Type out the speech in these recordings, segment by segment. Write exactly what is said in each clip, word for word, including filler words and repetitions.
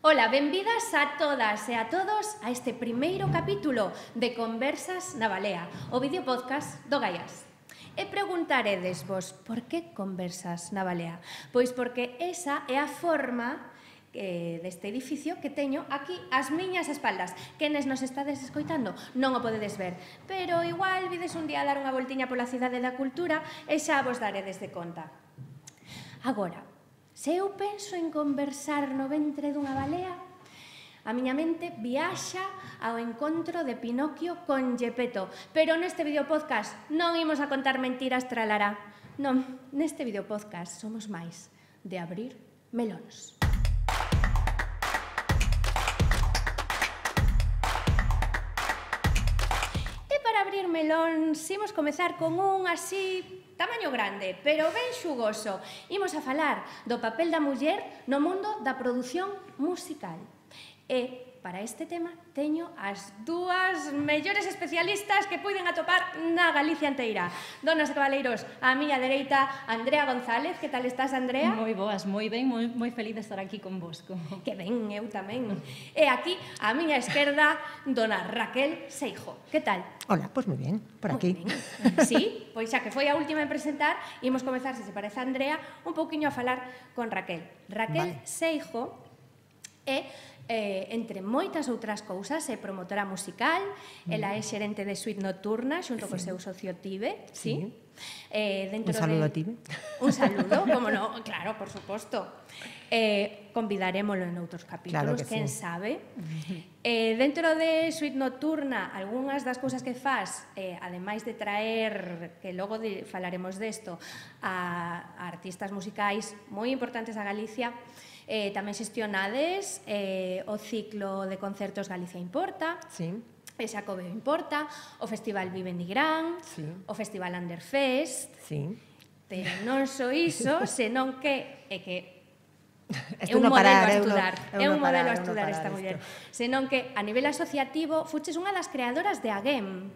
Ola, benvidas a todas e a todos a este primeiro capítulo de Conversas na Balea, o videopodcast do Gaiás. E preguntaredes vos, por que Conversas na Balea? Pois porque esa é a forma eh, deste edificio que teño aquí ás miñas espaldas. Quenes nos estades escoitando non o podedes ver, pero igual vides un día a dar unha voltiña pola cidade da cultura e xa vos daredes de conta. Agora, se eu penso en conversar no ventre dunha balea, a miña mente viaxa ao encontro de Pinocchio con Gepetto. Pero neste videopodcast non imos a contar mentiras tralará. Non, neste videopodcast somos máis de abrir melóns. E para abrir melóns, imos comezar con un así tamaño grande, pero ben xugoso. Imos a falar do papel da muller no mundo da produción musical. E para este tema teño as dúas mellores especialistas que puiden atopar na Galicia enteira. Donas e cabaleiros, a miña dereita, Andrea González. Que tal estás, Andrea? Moi boas, moi ben, moi, moi feliz de estar aquí convosco. Que ben, eu tamén. E aquí, a miña esquerda, dona Raquel Seijo. Que tal? Hola, pois moi ben, por aquí. Sí, pois xa que foi a última en presentar, imos comezar, se se parece a Andrea, un pouquiño a falar con Raquel. Raquel vale. Seijo é, eh, entre moitas outras cousas, é promotora musical, mm. ela é xerente de Suite Nocturna, xunto sí. co seu socio Tibe, sí? sí. Eh, dentro un saludo de... a Tibe. Un saludo, como no, claro, por suposto. Eh, convidarémolo en outros capítulos, claro que quen sí. sabe. Eh, dentro de Suite Nocturna, algunhas das cousas que faz, eh, ademais de traer, que logo de, falaremos desto, a, a artistas musicais moi importantes a Galicia, eh, tamén xestionades eh, o ciclo de concertos Galicia Importa, sí. e Xacobeo Importa, o Festival Vive Nigrán, sí. o Festival Underfest, sí. pero non só iso, senón que é que é un modelo parar, a estudar, é un modelo a parar, estudar esta muller, senón que a nivel asociativo fuches unha das creadoras de AGEM.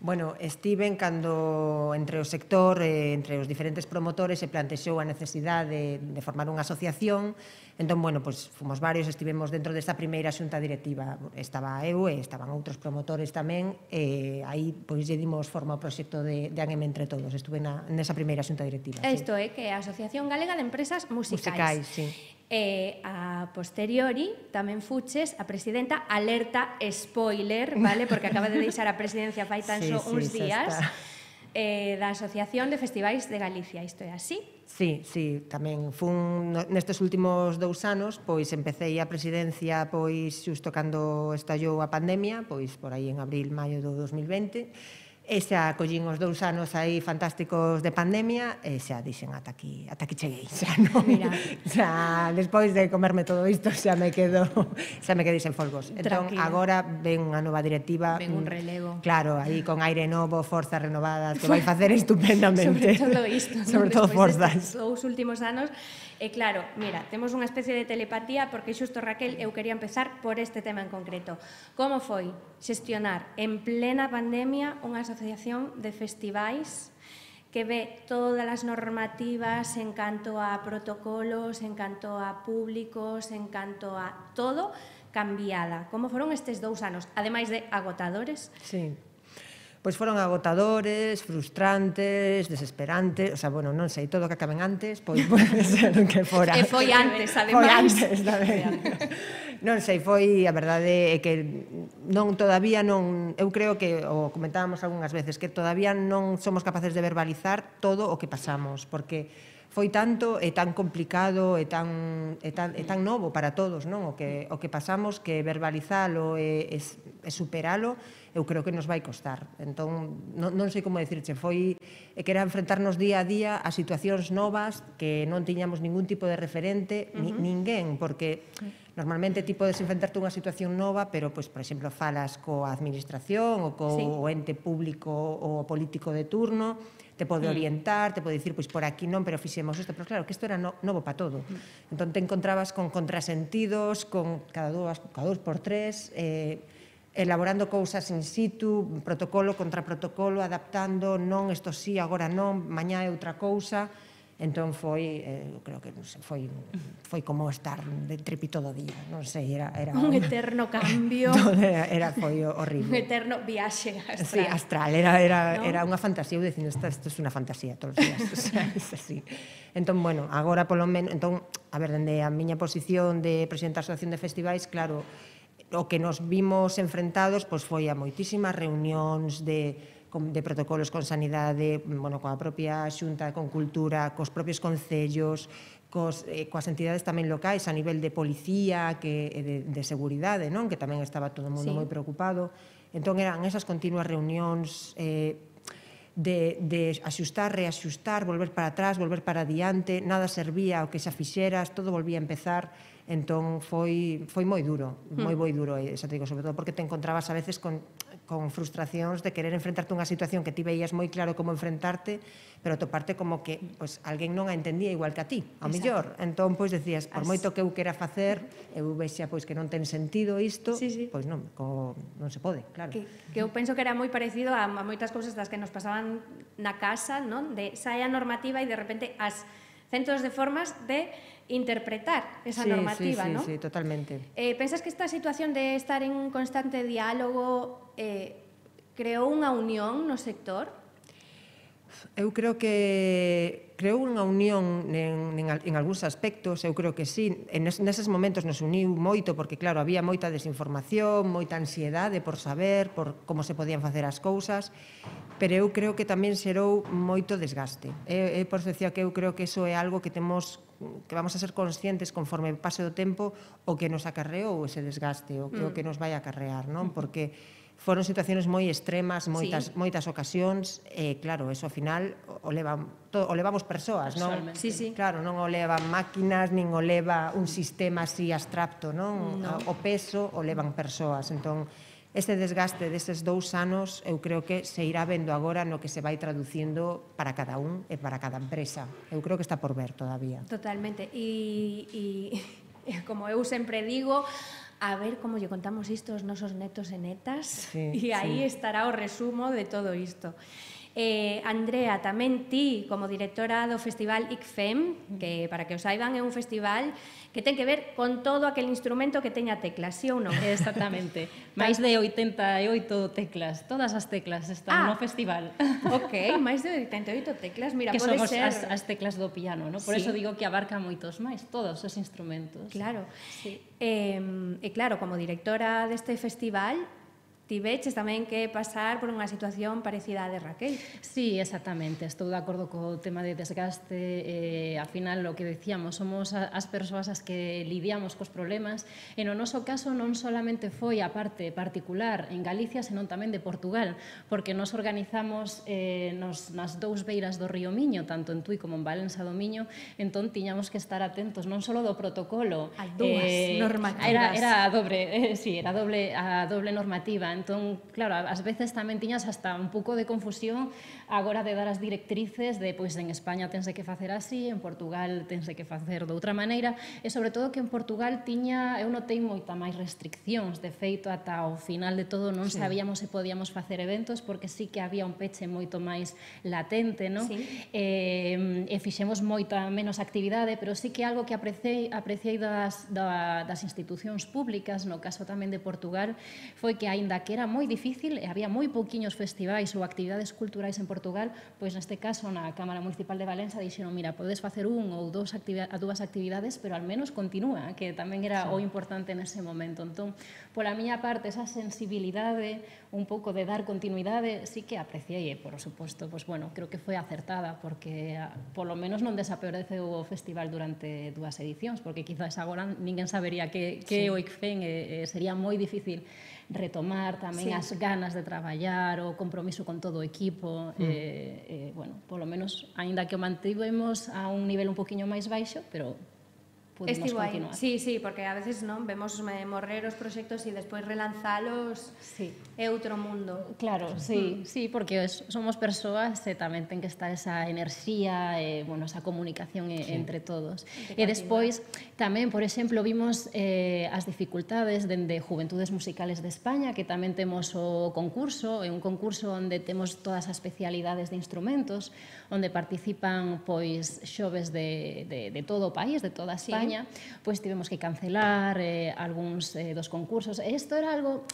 Bueno, estiven cando entre o sector, eh, entre os diferentes promotores se plantexou a necesidade de, de formar unha asociación. Entón, bueno, pois fomos varios, estivemos dentro desta primeira xunta directiva. Estaba eu e estaban outros promotores tamén, e aí pois lle dimos forma ao proxecto de, de AGEM entre todos. Estuve na, nesa primeira xunta directiva. Isto sí. é que a Asociación Galega de Empresas Musicais. Musicais, sí. E a posteriori tamén fuches a presidenta, alerta spoiler, vale, porque acaba de deixar a presidencia fai tan só sí, uns sí, días, eh, da Asociación de Festivais de Galicia. Isto é así? Sí, sí, tamén fun nestes últimos dous anos, pois empecé a presidencia pois xusto cando estallou a pandemia, pois por aí en abril, maio do dos mil vinte. E xa collín os dous anos aí fantásticos de pandemia e xa dixen ata aquí, ata aquí cheguei, xa non. Mira, xa despois de comerme todo isto xa me quedo, xa me quedei sen folgos. Entón agora ven unha nova directiva, ven un relevo. Claro, aí con aire novo, forzas renovadas, que vai facer estupendamente. Sobre todo isto, sobre todo forzas. Os últimos anos. E claro, mira, temos unha especie de telepatía porque xusto, Raquel, eu quería empezar por este tema en concreto. Como foi xestionar en plena pandemia unha asociación de festivais que ve todas as normativas en canto a protocolos, en canto a públicos, en canto a todo cambiada? Como foron estes dous anos, ademais de agotadores? Sí. Pois foron agotadores, frustrantes, desesperantes, o sea, bueno, non sei, todo o que acaben antes, pois pode ser que fora. E foi antes, ademais. Foi antes, tamén. Non sei, foi, a verdade é que non, todavía non, eu creo que, o comentábamos algunhas veces, que todavía non somos capaces de verbalizar todo o que pasamos, porque foi tanto e tan complicado e tan, e tan, e tan novo para todos, non? O que, o que pasamos, que verbalizalo e, e, e superalo, eu creo que nos vai costar. Entón, non, non sei como dicirche, foi que era enfrentarnos día a día a situacións novas que non tiñamos ningún tipo de referente, uh -huh. ni, ninguén, porque normalmente ti podes enfrentarte unha situación nova, pero, pois, por exemplo, falas coa administración ou co sí. o ente público ou político de turno, te pode orientar, te pode dicir, pois por aquí non, pero fixemos isto, pero claro, que isto era no, novo para todo. Entón te encontrabas con contrasentidos, con cada dúas, cada dous por tres, eh, elaborando cousas in situ, protocolo contra protocolo, adaptando, non, isto sí, agora non, mañá é outra cousa. Entón foi, eh, creo que, non sei, foi, foi como estar de tripi todo o día, non sei, era... era un eterno cambio. era, era, foi horrible. Un eterno viaxe astral. Sí, astral, era, era, ¿no? era unha fantasía, eu dicindo, isto, isto é unha fantasía todos os días, o sea, é así. Entón, bueno, agora polo menos, entón, a ver, dende a miña posición de presidenta da Asociación de Festivais, claro, o que nos vimos enfrentados pois foi a moitísimas reunións de de protocolos con sanidade, bueno, coa propia xunta, con cultura, cos propios concellos, cos, eh, coas entidades tamén locais a nivel de policía, que, de, de seguridade, non? Que tamén estaba todo o mundo sí. moi preocupado. Entón eran esas continuas reunións eh, de, de axustar, reaxustar, volver para atrás, volver para adiante, nada servía o que xa fixeras, todo volvía a empezar. Entón foi, foi moi duro, moi moi duro, e xa te digo, sobre todo porque te encontrabas a veces con, con frustracións de querer enfrentarte a unha situación que ti veías moi claro como enfrentarte, pero toparte como que pues, alguén non a entendía igual que a ti, ao mellor. Entón, pois, decías, por moito que eu quera facer, eu vexa pois, que non ten sentido isto, sí, sí. pois non, co, non se pode, claro. Que, que eu penso que era moi parecido a, a moitas cousas das que nos pasaban na casa, non? De sae a normativa e de repente as centos de formas de interpretar esa sí, normativa, sí, sí, ¿no? Sí, totalmente. Eh, pensas que esta situación de estar en constante diálogo eh, creou unha unión no sector? Eu creo que creou unha unión en, en, en algúns aspectos, eu creo que sí. En es, neses momentos nos uniu moito, porque claro, había moita desinformación, moita ansiedade por saber, por como se podían facer as cousas, pero eu creo que tamén xerou moito desgaste. É, é por eso decía que eu creo que iso é algo que temos que vamos a ser conscientes conforme pase o tempo o que nos acarreou ese desgaste, o que, mm. o que nos vai acarrear, non? Porque foron situacións moi extremas, moitas, sí. moitas ocasións, e claro, eso ao final o, levan, to, o levamos persoas, non? Sí, sí. Claro, non o levan máquinas, nin o leva un sistema así abstracto, non? No. O peso o levan persoas, entón, este desgaste destes dous anos eu creo que se irá vendo agora no que se vai traducindo para cada un e para cada empresa. Eu creo que está por ver todavía. Totalmente. E, e como eu sempre digo, a ver como lle contamos isto aos nosos netos e netas, sí, e aí sí. estará o resumo de todo isto. Eh, Andrea, tamén ti, como directora do Festival I C F E M, que, para que o saiban, é un festival que ten que ver con todo aquel instrumento que teña teclas, sí ou non? Exactamente. Máis de oitenta e oito teclas, todas as teclas están ah, no festival. Ok, máis de oitenta e oito teclas, mira, que pode somos ser... as, as teclas do piano, ¿no? Por sí. eso digo que abarca moitos máis, todos os instrumentos. Claro. Sí. Eh, e claro, como directora deste festival, ti veches tamén que pasar por unha situación parecida á de Raquel. Sí, exactamente. Estou de acordo co tema de desgaste. Eh, ao final, o que decíamos, somos as persoas as que lidiamos cos problemas. E no noso caso non solamente foi a parte particular en Galicia, senón tamén de Portugal, porque nos organizamos eh, nos, nas dous beiras do río Miño, tanto en Tui como en Valença do Miño, entón tiñamos que estar atentos non só do protocolo. A dúas eh, normativas. Era, era a dobre, eh, sí, era doble, a doble normativa. Entón, claro, ás veces tamén tiñas hasta un pouco de confusión agora de dar as directrices de, pois, en España tense que facer así, en Portugal tense que facer de outra maneira, e sobre todo que en Portugal tiña, eu notei moita máis restriccións, de feito, ata o final de todo non sí. sabíamos se podíamos facer eventos, porque sí que había un peche moito máis latente, non? Sí. E, e fixemos moita menos actividade, pero sí que algo que apreciei, apreciei das, das institucións públicas, no caso tamén de Portugal, foi que, aínda que era moi difícil e había moi pouquiños festivais ou actividades culturais en Portugal, pois neste caso na Cámara Municipal de Valença dixeron, mira, podes facer un ou dous actividades, dúas actividades, pero al menos continúa, que tamén era sí. o importante nese momento. Entón, pola miña parte, esa sensibilidade, un pouco de dar continuidade, sí que apreciei, e, por suposto, pois, bueno, creo que foi acertada, porque polo menos non desapareceu o festival durante dúas edicións, porque quizás agora ninguén sabería que, que sí. o I C F E M e, e sería moi difícil retomar tamén sí. as ganas de traballar, o compromiso con todo o equipo, mm. eh, eh, bueno, polo menos, aínda que o mantivemos a un nivel un poquinho máis baixo, pero pudimos Estivo aí. continuar. Sí, sí, porque a veces non vemos eh, morrer os proxectos e despois relanzalos Sí. é outro mundo. Claro, sí, sí, porque es- somos persoas e tamén ten que estar esa enerxía e, bueno, esa comunicación e, Sí. entre todos. De E despois, tamén, por exemplo, vimos eh, as dificultades dende Juventudes Musicales de España, que tamén temos o concurso, é un concurso onde temos todas as especialidades de instrumentos, onde participan pois xoves de, de, de todo o país, de toda España, pois tivemos que cancelar eh, algúns eh, dos concursos. E isto era algo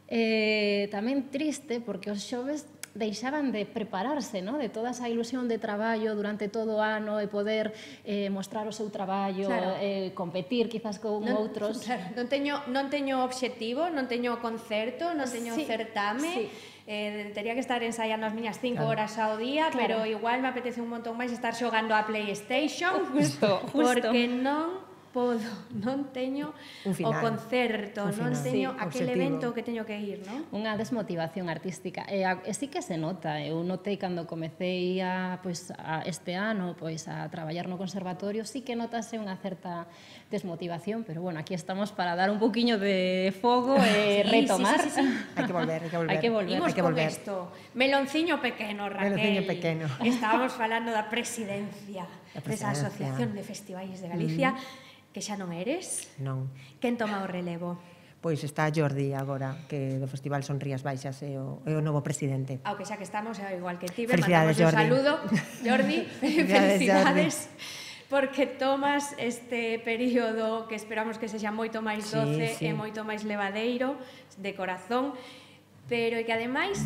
eh, tamén triste, porque os xoves deixaban de prepararse, ¿no? De toda esa ilusión de traballo durante todo o ano e poder eh, mostrar o seu traballo, Claro. eh, competir quizás con Non, outros. claro, non teño non teño obxectivo, non teño concerto, non teño Sí, certame. sí. Eh, tería que estar ensaiando as miñas cinco Claro. horas ao día, Claro. pero igual me apetece un montón máis estar xogando a PlayStation. Justo, justo. Porque non podo, non teño Un o final. concerto, Un non final. teño Sí, aquel obxectivo. evento que teño que ir, non? Unha desmotivación artística. E, a, e sí que se nota. Eu notei cando comecei a, pois, a este ano pois, a traballar no conservatorio, sí que notase unha certa desmotivación, pero bueno, aquí estamos para dar un poquinho de fogo e Sí, retomar. sí, sí, sí, sí. Hai que volver, hai que volver. Hai que volver. Imos Hai que con volver. isto. Melonciño pequeno, Raquel. Melonciño pequeno. Estábamos falando da presidencia Da desa presidencia. Asociación de Festivais de Galicia, que xa non eres. Non. Quen toma o relevo? Pois está Jordi agora, que do Festival Son Rías Baixas é o, é o novo presidente. Ao que xa que estamos, é igual que ti, Felicidades, mandamos un Jordi. saludo. Jordi, Felicidades, felicidades. Porque tomas este período que esperamos que sexa moito máis Sí, doce sí. e moito máis levadeiro, de corazón, pero que ademais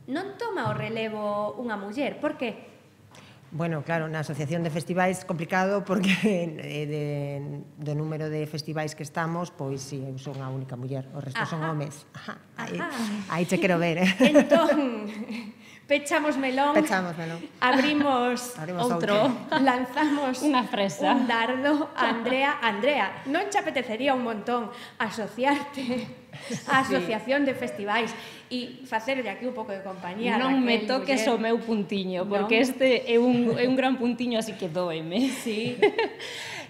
non toma o relevo unha muller. Por que? Bueno, claro, na Asociación de Festivais complicado porque eh, de, do número de festivais que estamos, pois si, sí, eu son a única muller, o resto son Ajá. homes. Ajá, aí, Ajá. aí che quero ver, eh? Entón, pechamos melón, Pechamos, melón. Abrimos, Abrimos outro. lanzamos Unha fresa. un dardo a Andrea. Andrea, non che apetecería un montón asociarte á Asociación de Festivais e facerlle aquí un pouco de compañía? Non me Raquel, toques muller? o meu puntiño, Non. porque este é un, é un gran puntiño, así que dóeme. Sí.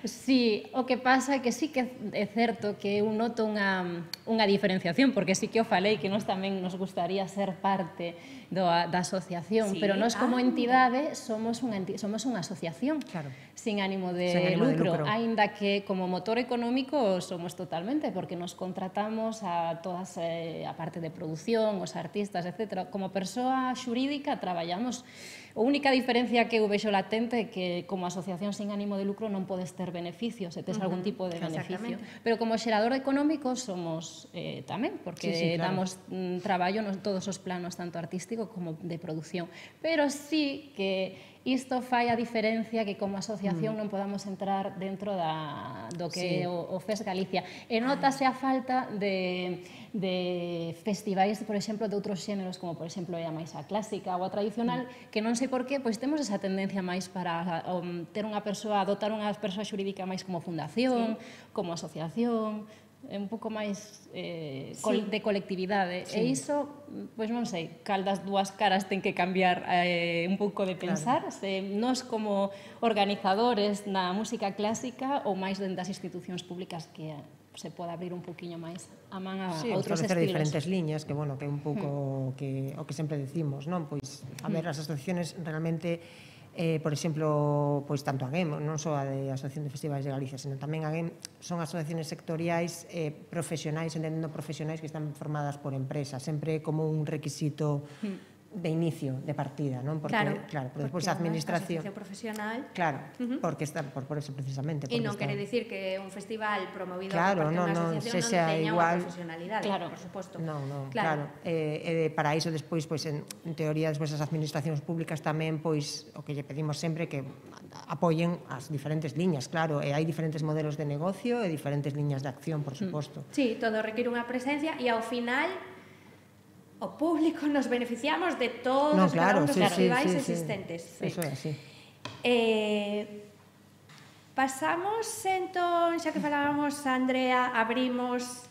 Sí, o que pasa é que sí que é certo que eu noto unha, unha diferenciación, porque sí que o falei que nós tamén nos gustaría ser parte do, da asociación, Sí, pero nós como ah. entidade somos unha, enti- somos unha asociación Claro. sin ánimo de, Sen ánimo de lucro, lucro. aínda que como motor económico somos totalmente, porque nos contratamos a todas eh, a parte de produción, os artistas, etcétera. Como persoa xurídica traballamos. A única diferencia que eu vexo latente é que como asociación sin ánimo de lucro non podes ter beneficios, se tes uh -huh. algún tipo de beneficio. Exactamente. Pero como xerador económico somos eh, tamén, porque Sí, sí, claro. damos mm, traballo nos todos os planos, tanto artístico como de producción. Pero sí que isto fai a diferencia que como asociación mm. non podamos entrar dentro da, do que Sí. é o, o F E S Galicia. E notase a falta de, de festivais, por exemplo, de outros xéneros, como por exemplo é a máis a clásica ou a tradicional, mm. que non sei por qué, pois temos esa tendencia máis para um, ter unha persoa, adotar unha persoa xurídica máis como fundación, sí. como asociación, é un pouco máis eh, col, Sí. de colectividade. Sí. E iso, pois non sei, cal das dúas caras ten que cambiar eh, un pouco de pensar, claro. Se nós como organizadores na música clásica ou máis dentro das institucións públicas que se pode abrir un poquinho máis a man a, Sí, a outros establecer estilos. diferentes liñas, que bueno, que é un pouco mm. que o que sempre decimos, non? Pois a ver, as asociaciones realmente eh, por exemplo, pois tanto a GEM, non só a de Asociación de Festivais de Galicia, senón tamén a GEM, son asociaciones sectoriais eh, profesionais, entendendo profesionais que están formadas por empresas, sempre como un requisito mm. de inicio, de partida, non? Porque, Claro, claro, pero despois porque a administración... Asociación profesional. Claro, Uh-huh. porque está por, por eso precisamente. E porque non está- quere dicir que un festival promovido Claro, por parte non, dunha non, asociación sexa non teña igual. unha profesionalidade, Claro. por suposto. Non, non, Claro. claro. Eh, eh, para iso despois, pois, en, en teoría, despois as administracións públicas tamén, pois, o que lle pedimos sempre que apoyen as diferentes liñas, claro, e hai diferentes modelos de negocio e diferentes liñas de acción, por suposto. Sí, todo require unha presencia e ao final o público nos beneficiamos de todos Non, os cada claro, un dos sí, sí, festivais sí, sí. existentes. Eso é así. Eh, pasamos, entón, xa que falábamos, Andrea, abrimos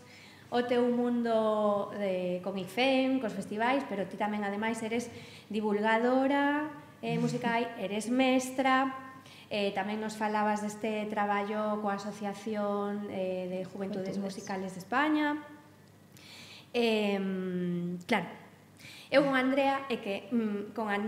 o teu mundo de, con I F E M, cos festivais, pero ti tamén, ademais, eres divulgadora eh, musical, eres mestra, Eh, tamén nos falabas deste traballo coa Asociación eh, de Juventudes Musicales de España. Eh, claro, eu con Andrea é que mm, con, An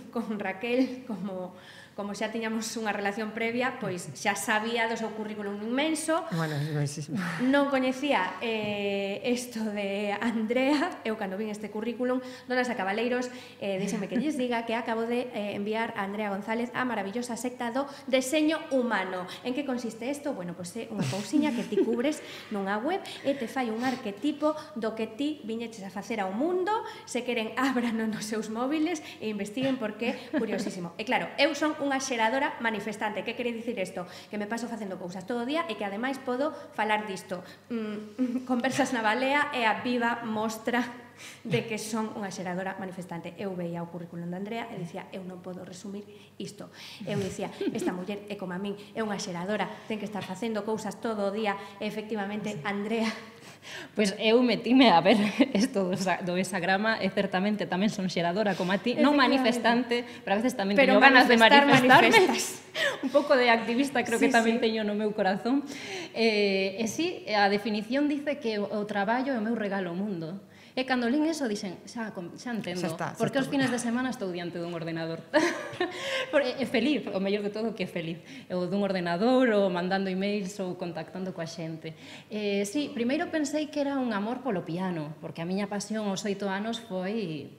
con Raquel, como... como xa tiñamos unha relación previa, pois xa sabía do seu currículum inmenso. Bueno, sí, sí. Non coñecía eh, isto de Andrea. Eu, cando vin este currículum, donas a Cabaleiros, eh, díxenme que lles diga que acabo de eh, enviar a Andrea González a maravillosa secta do deseño humano. En que consiste isto? Bueno, pois é unha cousiña que ti cubres nunha web e te fai un arquetipo do que ti viñeches a facer ao mundo. Se queren, ábrano nos seus móviles e investiguen porque é curiosísimo. E claro, eu son unha xeradora manifestante. Que quere dicir isto? Que me paso facendo cousas todo o día e que ademais podo falar disto. Mm, Conversas na Balea é a viva mostra de que son unha xeradora manifestante. Eu veía o currículum de Andrea e dicía, eu non podo resumir isto. Eu dicía, esta muller é como a min, é unha xeradora, ten que estar facendo cousas todo o día e efectivamente Andrea... Pois eu metime a ver isto do hexagrama e certamente tamén son xeradora como a ti, non manifestante, pero a veces tamén teño ganas de manifestarme. Un pouco de activista creo que tamén teño no meu corazón. E si, a definición dice que o traballo é o meu regalo ao mundo. E cando lín eso dixen, xa, xa entendo, porque os fines de semana estou diante dun ordenador. É feliz, o mellor de todo que é feliz. Ou dun ordenador, ou mandando emails, ou contactando coa xente. Eh, sí, primeiro pensei que era un amor polo piano, porque a miña pasión aos oito anos foi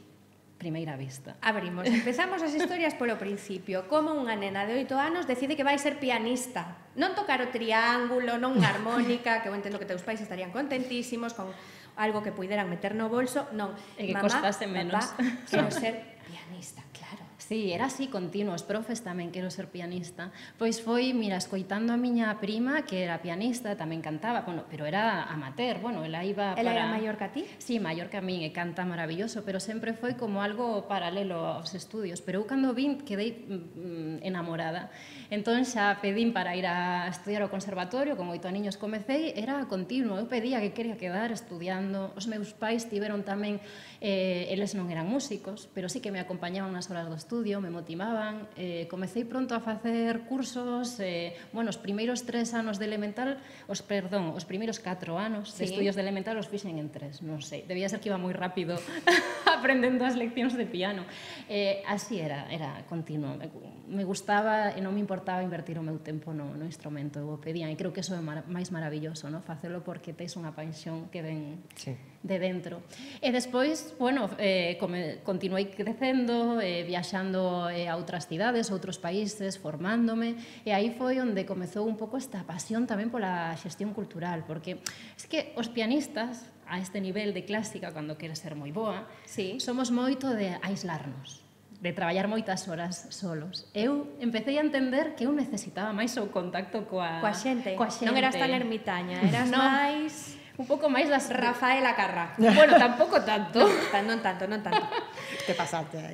primeira vista. Abrimos, empezamos as historias polo principio. Como unha nena de oito anos decide que vai ser pianista. Non tocar o triángulo, non unha armónica, que eu entendo que teus pais estarían contentísimos con algo que puideran meter no bolso, non. E que costase menos. Papá, quero ser pianista, claro. Sí, era así continuo, os profes tamén quero ser pianista. Pois foi, mira, escoitando a miña prima, que era pianista, tamén cantaba, bueno, pero era amateur, bueno, ela iba para... Ela era maior que a ti? Sí, maior que a min, e canta maravilloso, pero sempre foi como algo paralelo aos estudios. Pero eu cando vin, quedei mm, enamorada. Entón xa pedín para ir a estudiar ao conservatorio, con oito aniños comecei, era continuo, eu pedía que quería quedar estudiando. Os meus pais tiveron tamén, eh, eles non eran músicos, pero sí que me acompañaban nas horas do estudio, me motivaban, eh, comecei pronto a facer cursos, eh, bueno, os primeiros tres anos de elemental, os, perdón, os primeiros catro anos de estudios de elemental os fixen en tres, non sei, debía ser que iba moi rápido aprendendo as leccións de piano. Eh, así era, era continuo, me, me gustaba e non me importaba invertir o meu tempo no, no instrumento, eu o pedía, e creo que eso é mar, máis maravilloso, no? Facelo porque tes unha paixón que ven sí. de dentro. E despois, bueno, eh, come, continuei crecendo, eh, viaxando eh, a outras cidades, outros países, formándome, e aí foi onde comezou un pouco esta pasión tamén pola xestión cultural, porque es que os pianistas, a este nivel de clásica, cando queres ser moi boa, sí. somos moito de aislarnos, de traballar moitas horas solos. Eu empecé a entender que eu necesitaba máis o contacto coa, coa xente. Coa xente. Non eras tan ermitaña, eras no. máis... Un pouco máis das... Rafaela Carrá. Bueno, tampouco tanto. Non tanto, non tanto. Te pasaste aí.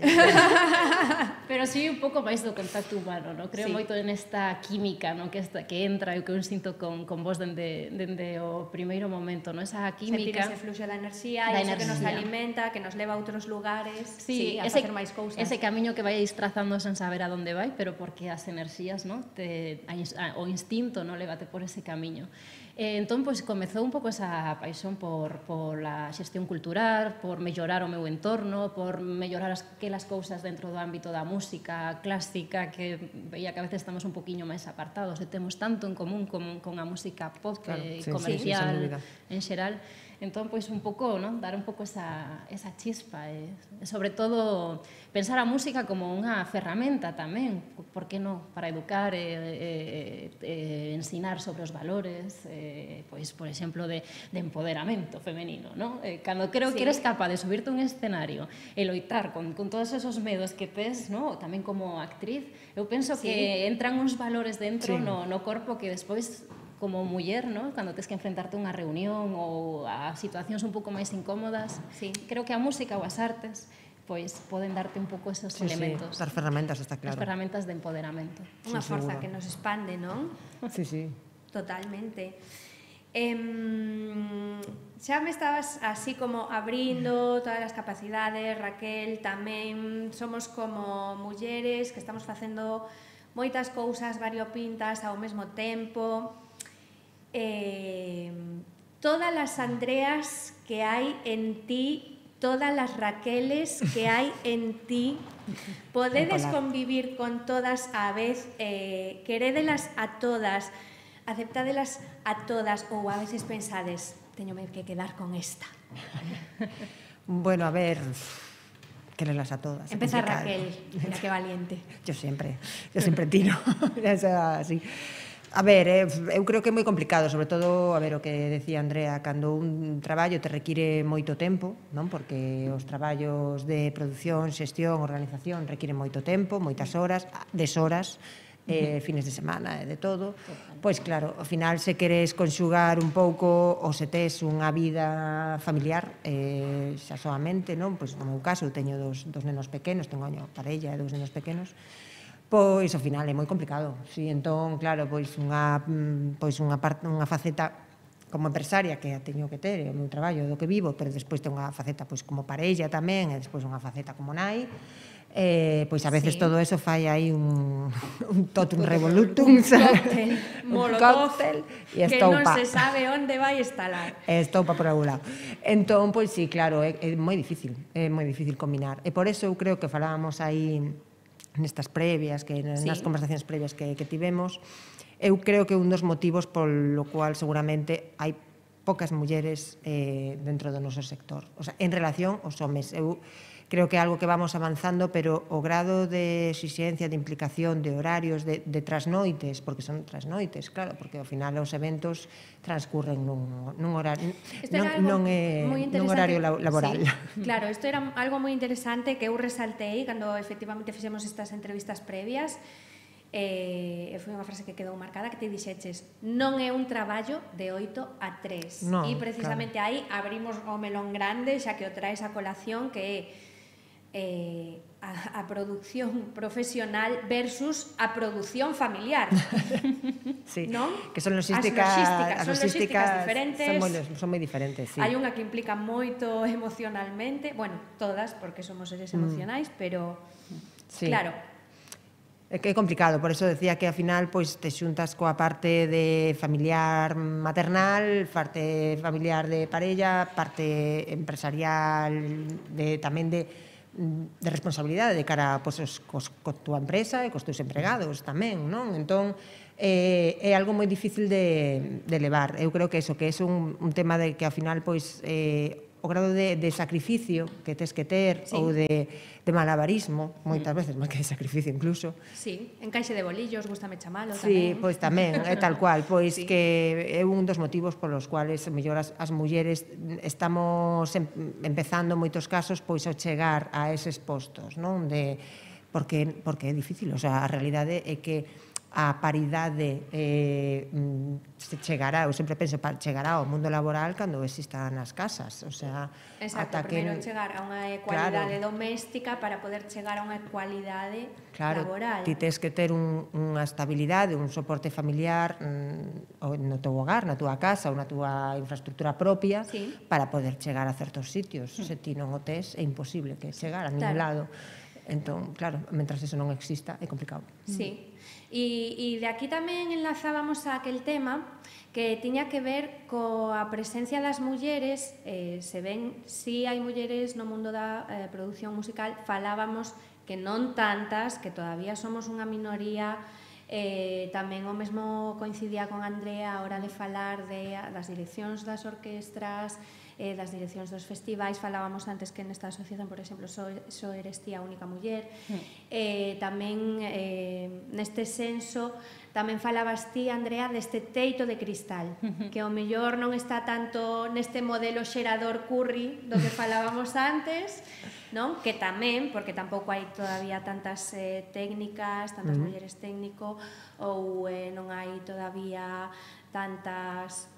Pero sí un pouco máis do contacto humano, no? Creo sí. moito nesta química, no? que, esta, que entra e que eu sinto con, con vos dende, dende o primeiro momento, no? Esa química. Sentir ese fluxo da enerxía, e iso que nos alimenta, que nos leva a outros lugares, sí, sí, a ese, facer máis cousas. Ese camiño que vais trazando sen saber a donde vai, pero porque as enerxías, no? Te, a, a, o instinto, no? Lévate por ese camiño. Eh, entón, pois, comezou un pouco esa paixón por, por a xestión cultural, por mellorar o meu entorno, por mellorar aquelas cousas dentro do ámbito da música clásica, que veía que a veces estamos un poquinho máis apartados e temos tanto en común con, con a música pop claro, e sí, comercial sí, en xeral. Entón, pois, un pouco, non? Dar un pouco esa, esa chispa e, e, sobre todo, pensar a música como unha ferramenta tamén, por que non? Para educar e, e, e ensinar sobre os valores, e, pois, por exemplo, de, de empoderamento femenino, non? E, cando creo sí. que eres capaz de subirte un escenario e loitar con, con todos esos medos que tes, non? Tamén como actriz, eu penso sí. que entran uns valores dentro sí. no, no corpo que despois como muller, ¿no? Cando tes que enfrentarte a unha reunión ou a situacións un pouco máis incómodas, sí. creo que a música ou as artes pois poden darte un pouco esos sí, elementos. Sí, as ferramentas, está claro. As ferramentas de empoderamento. Unha sí, forza seguro. Que nos expande, non? Sí, sí. Totalmente. Eh, xa me estabas así como abrindo todas as capacidades, Raquel, tamén somos como mulleres que estamos facendo moitas cousas variopintas ao mesmo tempo. Eh, todas as Andreas que hai en ti, todas as Raqueles que hai en ti, podedes convivir con todas á vez, eh, querédelas a todas, aceptádelas a todas, ou a veces pensades, teñome que quedar con esta. Bueno, a ver, quererlas a todas. Empeza Raquel, mira que valiente. Yo sempre, yo sempre tiro, eso así. A ver, eh, eu creo que é moi complicado, sobre todo, a ver, o que decía Andrea, cando un traballo te require moito tempo, non? Porque os traballos de produción, xestión, organización requiren moito tempo, moitas horas, deshoras, eh, fines de semana e de todo. Pois claro, ao final se queres conxugar un pouco ou se tes unha vida familiar, eh, xa soamente, non? Pois no meu caso, eu teño dos, dos nenos pequenos, tengo unha parella e dos nenos pequenos, pois ao final é moi complicado. Si, entón, claro, pois unha pois unha parte, unha faceta como empresaria que a teño que ter, é o meu traballo do que vivo, pero despois ten unha faceta pois como parella tamén, e despois unha faceta como nai. Eh, pois a veces sí. Todo eso fai aí un, un totum revolutum, un cóctel, molotov, e que non se sabe onde vai instalar. E estoupa por algún lado. Entón, pois sí, claro, é, é moi difícil, é moi difícil combinar. E por eso eu creo que falábamos aí nestas previas, que nas sí. conversacións previas que, que tivemos, eu creo que un dos motivos polo cual seguramente hai poucas mulleres eh, dentro do noso sector. O sea, en relación aos homes, eu creo que é algo que vamos avanzando, pero o grado de exigencia, de implicación, de horarios, de, de trasnoites, porque son trasnoites, claro, porque ao final os eventos transcurren nun, nun horario, non, non é nun horario laboral. Sí, claro, isto era algo moi interesante que eu resaltei cando efectivamente fixemos estas entrevistas previas. Eh, foi unha frase que quedou marcada, que te dixeches, non é un traballo de oito a tres, no, e precisamente claro. Aí abrimos o melón grande, xa que o traes a colación, que é eh, a, a produción profesional versus a produción familiar. Sí, non? Que son logísticas, as logísticas, as son logísticas diferentes. Son moi, son moi diferentes, sí. Hai unha que implica moito emocionalmente, bueno, todas, porque somos seres emocionais, mm. pero sí. Claro, é que é complicado, por eso decía que ao final pois te xuntas coa parte de familiar maternal, parte familiar de parella, parte empresarial, de tamén de de responsabilidade de cara pois, os, cos, co túa empresa e cos teus empregados tamén, non? Entón, eh, é algo moi difícil de, de levar. Eu creo que eso, que é un, un tema de que ao final, pois, eh, o grado de, de sacrificio que tes que ter, sí. Ou de, de malabarismo, moitas mm. veces, máis que de sacrificio incluso. Sí, encaixe de bolillos, gústame chamalo tamén. Sí, pois tamén, é tal cual, pois sí. Que é un dos motivos polos cuales mellor as, as mulleres estamos em, empezando en moitos casos pois a chegar a eses postos, non? De, porque, porque é difícil, o sea, a realidade é que a paridade eh, se chegará, eu sempre penso, chegará ao mundo laboral cando existan nas casas, o sea, exacto, ata primeiro que chegar a unha ecualidade claro. Doméstica para poder chegar a unha ecualidade claro, laboral. Ti tes que ter un, unha estabilidade, un soporte familiar mm, no teu hogar, na túa casa ou na túa infraestructura propia sí. Para poder chegar a certos sitios. Mm. Se ti non o tes, é imposible que chegar a ningún claro. Lado. Entón, claro, mentras eso non exista, é complicado. Sí. E, e de aquí tamén enlazábamos a aquel tema que tiña que ver coa presencia das mulleres, eh, se ven, si hai mulleres no mundo da eh, produción musical, falábamos que non tantas, que todavía somos unha minoría, eh, tamén o mesmo coincidía con Andrea a hora de falar de, das direccións das orquestras, eh, das direccións dos festivais, falábamos antes que nesta asociación, por exemplo, só, só eres ti a única muller, mm. eh, tamén eh, neste senso, tamén falabas ti, Andrea, deste teito de cristal, que ao mellor non está tanto neste modelo xerador Curry do que falábamos antes, non? Que tamén, porque tampouco hai todavía tantas eh, técnicas, tantas mm. mulleres técnico, ou eh, non hai todavía tantas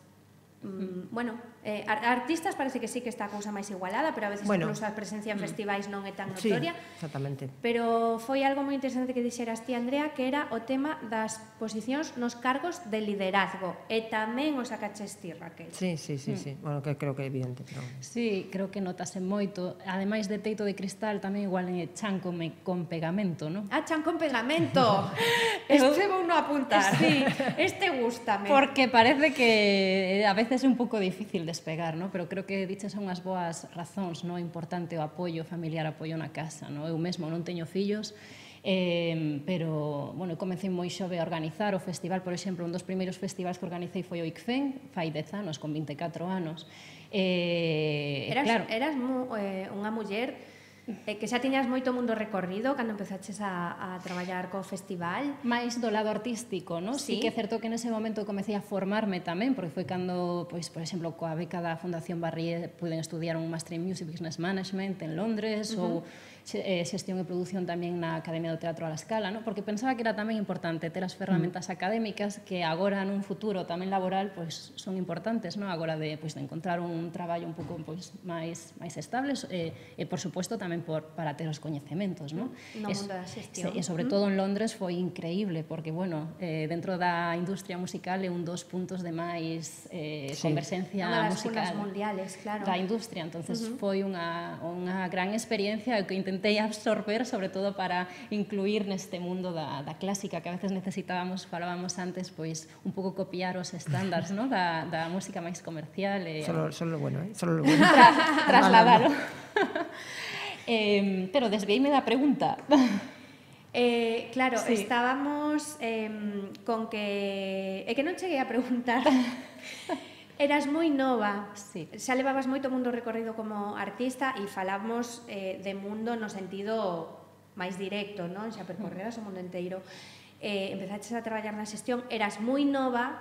Mm, bueno, eh, artistas parece que sí que está a cousa máis igualada, pero a veces bueno, incluso a presencia en festivais non é tan sí, notoria. exactamente. Pero foi algo moi interesante que dixeras ti, Andrea, que era o tema das posicións nos cargos de liderazgo. E tamén o sacaches ti, Raquel. Sí, sí, sí, mm. sí. Bueno, que creo que é evidente. Pero... Sí, creo que notase moito. Ademais de teito de cristal, tamén igual en chan con, con pegamento, non? Ah, chan con pegamento! Este vou non apuntar. Sí, este gústame. Porque parece que a veces é un pouco difícil despegar, ¿no? Pero creo que diches son as boas razóns, ¿no? Importante o apoio familiar, apoio na casa, ¿no? Eu mesmo non teño fillos, eh, pero, bueno, comecei moi xove a organizar o festival, por exemplo, un dos primeiros festivais que organicei foi o I C F E N, fai dez anos, con vinte e catro anos. Eh, eras claro, eras mu, eh, unha muller Eh, que xa tiñas moito mundo recorrido cando empezaches a, a traballar co festival. máis do lado artístico, ¿no? Sí. Sí que é certo que nese momento comecei a formarme tamén, porque foi cando, pois, por exemplo, coa beca da Fundación Barrié puiden estudiar un Master in Music Business Management en Londres, uh -huh. ou eh, xestión e produción tamén na Academia do Teatro a la Scala, ¿no? Porque pensaba que era tamén importante ter as ferramentas uh -huh. académicas que agora nun futuro tamén laboral pois son importantes, ¿no? Agora de, pois, de encontrar un traballo un pouco pois, máis, máis estable e, e, por suposto, tamén por, para ter os coñecementos, ¿no? No es, mundo da xestión. E, sobre todo en Londres foi increíble, porque, bueno, eh, dentro da industria musical é un dos puntos de máis eh, sí. conversencia Unha das musical mundiales, claro. da industria, entonces uh -huh. foi unha, unha gran experiencia que intentei absorber, sobre todo para incluir neste mundo da, da clásica, que a veces necesitábamos, falábamos antes, pois un pouco copiar os estándares, ¿no? da, da música máis comercial. E, solo, solo lo bueno, ¿eh? Solo lo bueno. Tra, trasladalo. eh, pero desviéime da pregunta. Eh, claro, sí. estábamos eh, con que... É que non cheguei a preguntar... Eras moi nova, sí. xa levabas moito mundo recorrido como artista e falamos eh, de mundo no sentido máis directo, non? Xa percorreras o mundo inteiro. Eh, empezaches a traballar na xestión, eras moi nova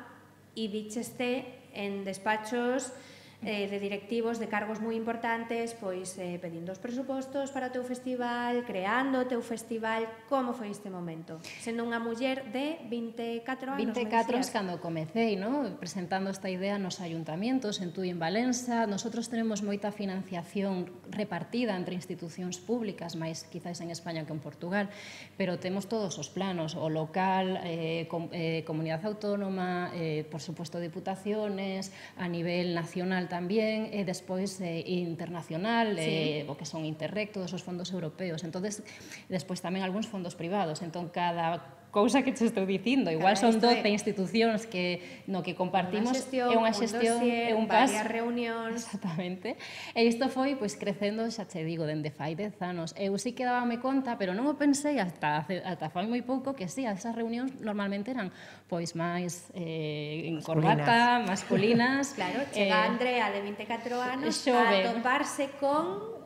e vicheste en despachos eh, de directivos de cargos moi importantes, pois eh, pedindo os presupostos para o teu festival, creando o teu festival. Como foi este momento? Sendo unha muller de vinte e catro anos, vinte e catro anos cando comecei, ¿no? Presentando esta idea nos ayuntamientos, en Tui, en Valença. Nosotros tenemos moita financiación repartida entre institucións públicas, máis quizás en España que en Portugal, pero temos todos os planos, o local, eh, com, eh, comunidade autónoma, eh, por suposto diputaciones, a nivel nacional tamén, e despois eh, internacional, sí. eh, o que son Interreg, todos os fondos europeos. Entonces, despois tamén algúns fondos privados. Entón, cada cousa que te estou dicindo, igual son doce institucións que no que compartimos, é unha xestión, é un paso, varias reunións. Exactamente. E isto foi pois crecendo, xa che digo, dende fai dez anos. Eu sí que dábame conta, pero non o pensei hasta ata fai moi pouco que sí, esas reunións normalmente eran pois máis eh, en corbata, masculinas. Claro, chega eh, Andrea de vinte e catro anos xove, a toparse con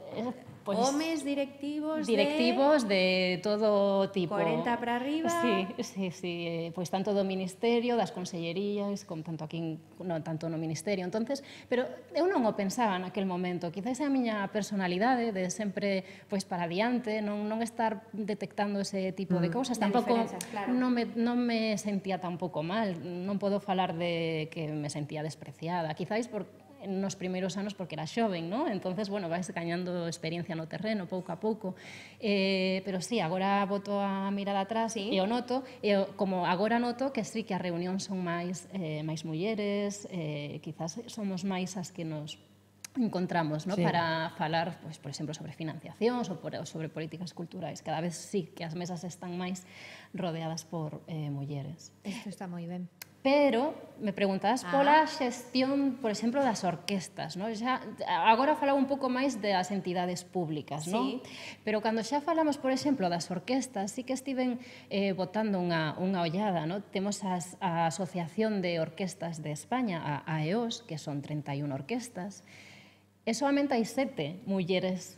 Pois, homes directivos, directivos de... de todo tipo. cuarenta para arriba. Sí, sí, sí, pois tanto do ministerio, das consellerías, como tanto aquí, no, tanto no ministerio. Entonces, pero eu non o pensaba naquel momento. Quizás é a miña personalidade de sempre pois para adiante, non non estar detectando ese tipo mm. de cousas. De tampouco claro. non me non me sentía tampouco mal, non podo falar de que me sentía despreciada. Quizás por nos primeiros anos porque era xoven, ¿no? Entonces, bueno, vais gañando experiencia no terreno pouco a pouco. Eh, pero sí, agora boto a mirada atrás sí. e o noto, e como agora noto que sí que as reunións son máis eh, máis mulleres, eh, quizás somos máis as que nos encontramos, ¿no? Sí. Para falar, pues, por exemplo, sobre financiacións ou por, sobre políticas culturais. Cada vez sí que as mesas están máis rodeadas por eh, mulleres. Isto está moi ben. Pero me preguntabas ah. pola xestión, por exemplo, das orquestas, ¿no? Xa, agora falaba un pouco máis das entidades públicas, ¿no? Sí. Pero cando xa falamos, por exemplo, das orquestas, sí que estiven eh, botando unha, unha ollada, ¿no? Temos as, a Asociación de Orquestas de España, a A E O S, que son treinta e unha orquestas, e solamente hai sete mulleres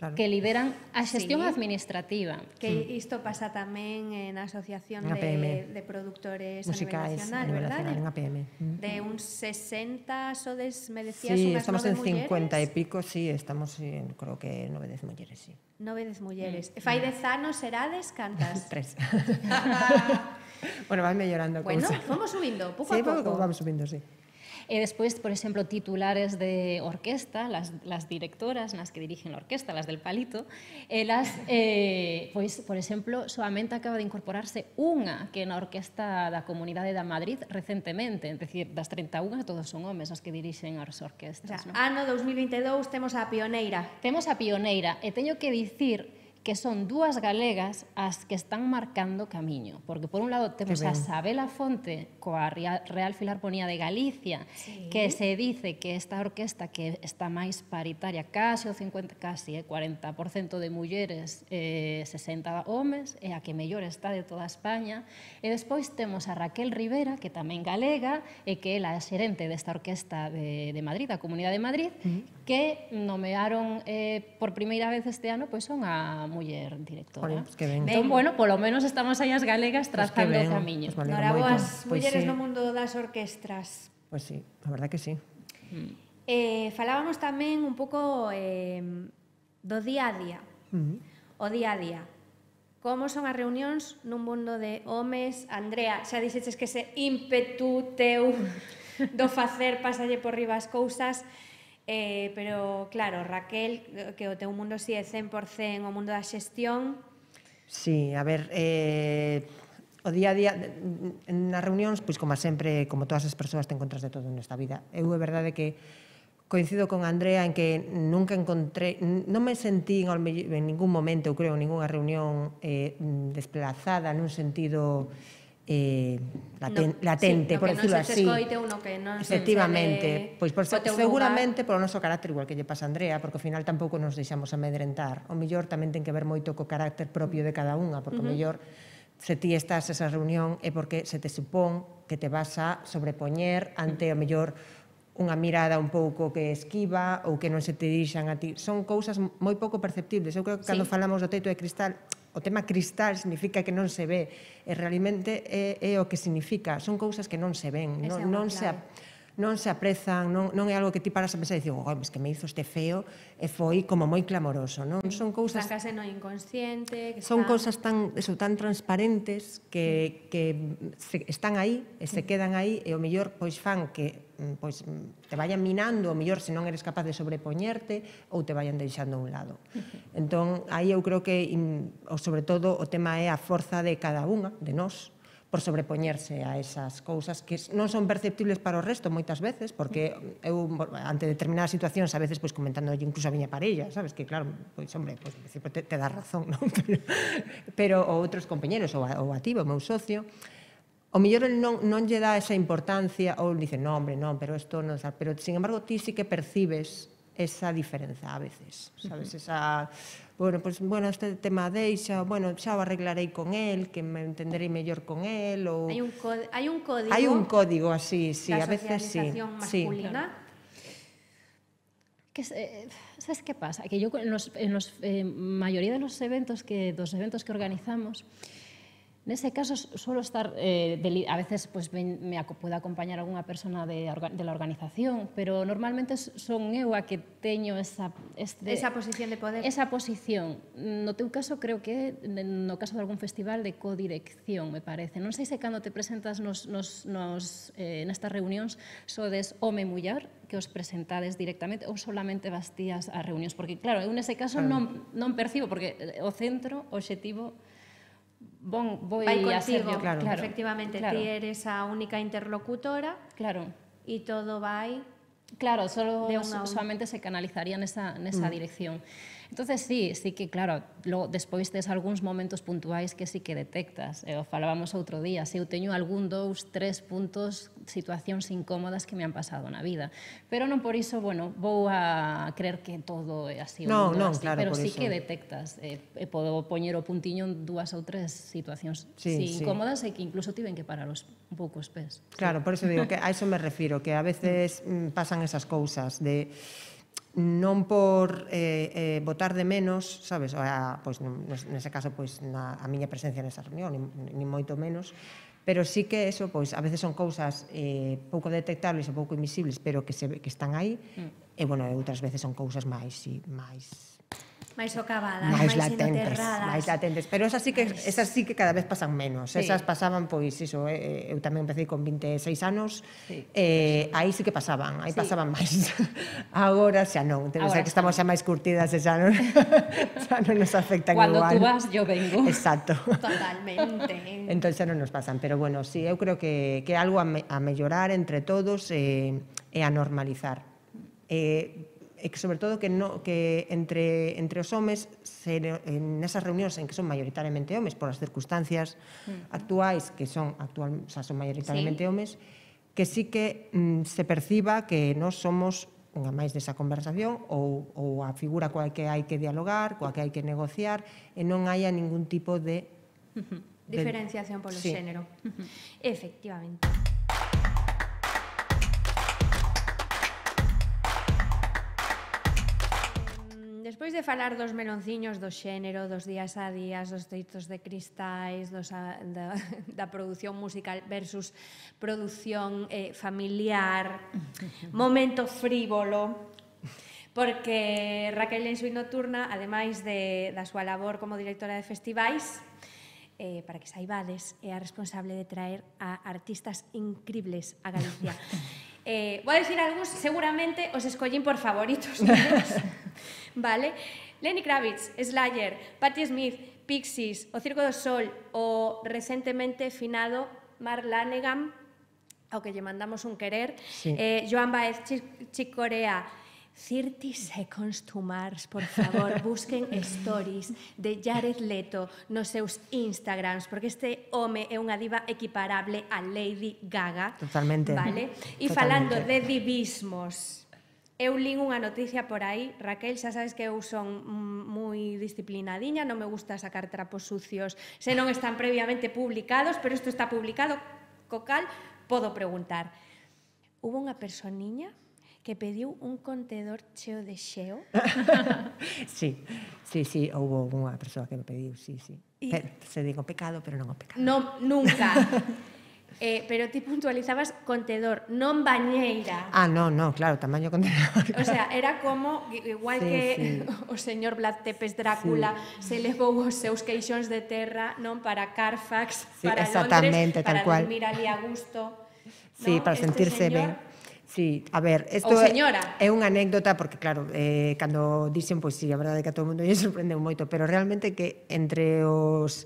claro. que lideran a xestión sí. administrativa. Que isto pasa tamén na Asociación de, de Productores musicais a nivel nacional, verdade? En A P M. De uns sesenta, sodes, me decías, sí, unhas estamos nove en cincuenta mulleres. e pico, sí, estamos en, creo que nove, dez mulleres, sí. Nove, dez mulleres. Mm. Fai dez anos serades cantas? Tres. Bueno, vai mellorando a Bueno, cousa. fomos subindo, pouco sí, a pouco. vamos subindo, sí. E despois, por exemplo, titulares de orquesta, las, las directoras nas que dirigen a orquesta, las del palito, elas, eh, pois, por exemplo, solamente acaba de incorporarse unha que na orquesta da Comunidade da Madrid recentemente, é dicir, das treinta e unha todos son homes as que dirixen as orquestas. O sea, ¿no? ano dous mil vinte e dous temos a pioneira. Temos a pioneira e teño que dicir que son dúas galegas as que están marcando camiño, porque por un lado temos a Sabela Fonte coa Real Filarmonía de Galicia, sí, que se dice que esta orquesta que está máis paritaria, case o cincuenta, casi, eh, cuarenta por cento de mulleres, eh, sesenta homes, é a que mellor está de toda España, e despois temos a Raquel Rivera, que tamén galega, e que ela é xerente desta orquesta de, de Madrid, da Comunidade de Madrid, uh-huh, que nomearon eh, por primeira vez este ano, pois son a muller directora. Bueno, pues que ben. Entón, bueno, polo menos estamos aí as galegas trazando pues o camiño. Pues vale, Noraboas pues mulleres sí, no mundo das orquestras. Pois pues sí, a verdad que sí. Mm. Eh, falábamos tamén un pouco eh, do día a día. Uh-huh. O día a día. Como son as reunións nun mundo de homes? Andrea, xa dixeches que ese ímpetu teu do facer pasalle por riba as cousas. Eh, pero, claro, Raquel, que o teu mundo si é cen por cen o mundo da xestión. Sí, a ver, eh, o día a día, nas reunións, pois como sempre, como todas as persoas, te encontras de todo nesta vida. Eu é verdade que coincido con Andrea en que nunca encontré, non me sentí en ningún momento, eu creo, en ninguna reunión eh, desplazada nun sentido eh, laten, no, latente, sí, por decirlo así. Escoite, uno que non efectivamente, pois por, seguramente polo noso carácter, igual que lle pasa a Andrea, porque ao final tampouco nos deixamos amedrentar. O mellor tamén ten que ver moito co carácter propio de cada unha, porque uh -huh. o mellor se ti estás esa reunión é porque se te supón que te vas a sobrepoñer ante o mellor unha mirada un pouco que esquiva ou que non se te dirixan a ti. Son cousas moi pouco perceptibles. Eu creo que cando sí. falamos do teito de cristal, o tema cristal significa que non se ve, e realmente é, é o que significa, son cousas que non se ven, non, non se non se aprezan, non, non é algo que ti paras a pensar e dices, oh, es que me hizo este feo e foi como moi clamoroso, non? Son cousas... Están case no inconsciente... Que son está... cousas tan, eso, tan transparentes que, que se, están aí e se quedan aí e o mellor pois fan que pois, te vayan minando, o mellor se non eres capaz de sobrepoñerte ou te vayan deixando a un lado. Entón, aí eu creo que, sobre todo, o tema é a forza de cada unha, de nós, por sobrepoñerse a esas cousas que non son perceptibles para o resto moitas veces, porque eu, ante determinadas situacións, a veces, pois, comentando incluso a miña parella, sabes, que claro, pois, hombre, pois, te, te dá razón, non? Pero, pero outros compañeros, ou a, ou a ti, o meu socio, o mellor el non, non lle dá esa importancia, ou dice, non, hombre, non, pero isto non, pero, sin embargo, ti sí que percibes esa diferenza a veces, sabes, esa... Bueno, pues, bueno, este tema deixa, bueno, xa o arreglarei con él, que me entenderei mellor con él, ou... Hai un, hai un código... Hai un código así, sí, a veces sí. Da socialización masculina. Sí. Que, eh, sabes que pasa? Que yo en los, en los eh, mayoría de los eventos que, dos eventos que organizamos, nese caso suelo estar, eh, de, a veces pues, me, me puede acompañar algunha persona de, de la organización, pero normalmente son eu a que teño esa... Este, esa posición de poder. Esa posición. No teu caso, creo que no caso de algún festival de codirección, me parece. Non sei se cando te presentas nos, nos, nos, eh, nestas reunións sodes home e muller, que os presentades directamente, ou solamente bastías as reunións, porque claro, eu nese caso non, non percibo, porque o centro, o obxectivo, Bon, voy vai contigo, a ser yo, claro. claro. Efectivamente, claro. ti eres a única interlocutora, claro, e todo vai... Claro, solo, de una solamente se canalizaría nesa, nesa mm. dirección. Entonces, sí, sí que, claro, lo, despois tes algúns momentos puntuais que sí que detectas. Eh, o falábamos outro día, se eu teño algún, dous, tres puntos, situacións incómodas que me han pasado na vida. Pero non por iso, bueno, vou a creer que todo é así. Non, non, así, claro, pero por sí iso. que detectas. Eh, e podo poñer o puntiño en dúas ou tres situacións sí, sí, sí. incómodas e que incluso tiven que parar os, un pouco os pés. Claro, sí. Por eso digo que a eso me refiro, que a veces mm, pasan esas cousas de non por eh, eh, botar de menos, sabes, a, pois, nese caso, pois, na, a miña presencia nesa reunión, ni, ni moito menos, pero sí que eso, pois, a veces son cousas eh, pouco detectables ou pouco invisibles, pero que, se, que están aí, mm. e, bueno, outras veces son cousas máis, sí, máis máis socavadas, máis máis latentes, inoterradas. máis latentes, pero esas sí que esas sí que cada vez pasan menos. Sí. Esas pasaban pois iso, eh, eu tamén empecé con vinte e seis anos. Sí. Eh, aí sí que pasaban, aí Sí. pasaban máis. Agora xa non, debe ser Agora que xa estamos xa máis curtidas e xa non xa non nos afectan Cuando igual. tú vas, yo vengo. Exacto. Totalmente. Entón xa non nos pasan, pero bueno, sí, eu creo que que é algo a, me, a mellorar entre todos e, e a normalizar. E e que sobre todo que no, que entre entre os homes se, en esas reunións en que son maioritariamente homes por as circunstancias uh-huh. actuais que son actual, o sea, son maioritariamente sí. homes, que sí que mm, se perciba que nós somos unha máis desa conversación ou, ou a figura coa que hai que dialogar, coa que hai que negociar e non haya ningún tipo de, uh-huh. de diferenciación polo sí. xénero. Uh-huh. Efectivamente. Despois de falar dos melonciños do xénero, dos días a días, dos teitos de cristais, dos a, da, da produción musical versus produción eh, familiar, momento frívolo, porque Raquel en Suite Nocturna, ademais de, da súa labor como directora de festivais, eh, para que saibades, é a responsable de traer a artistas incribles a Galicia. Eh, vou dicir algúns, seguramente os escollín por favoritos meus. Vale? Lenny Kravitz, Slayer, Patti Smith, Pixies, o Circo do Sol, o recentemente finado Mark Lanegan, ao que lle mandamos un querer, sí. eh, Joan Baez, Chick, Chick Corea, thirty seconds to Mars, por favor, busquen stories de Jared Leto nos seus Instagrams, porque este home é unha diva equiparable a Lady Gaga. Totalmente. Vale? E falando de divismos, eu lín unha noticia por aí, Raquel, xa sabes que eu son moi disciplinadiña, non me gusta sacar trapos sucios se non están previamente publicados, pero isto está publicado, co cal podo preguntar. Hubo unha personiña que pediu un contedor cheo de xeo? Sí, sí, sí, houve unha persoa que me pediu, sí, sí. Y... Pero, se digo pecado, pero non o pecado. Non, nunca. Eh, pero ti puntualizabas contedor, non bañeira. Ah, no, no, claro, tamaño contenedor. O sea, era como, igual sí, que sí. o señor Vlad Tepes Drácula sí. se levou os seus queixóns de terra, non, para Carfax, sí, para Londres, para cual. dormir ali a gusto. Sí, ¿no? para este sentirse señor... ben. Sí, a ver, isto é, é unha anécdota porque claro, eh, cando dixen, pois si, sí, a verdade é que a todo o mundo lle sorprendeu moito, pero realmente que entre os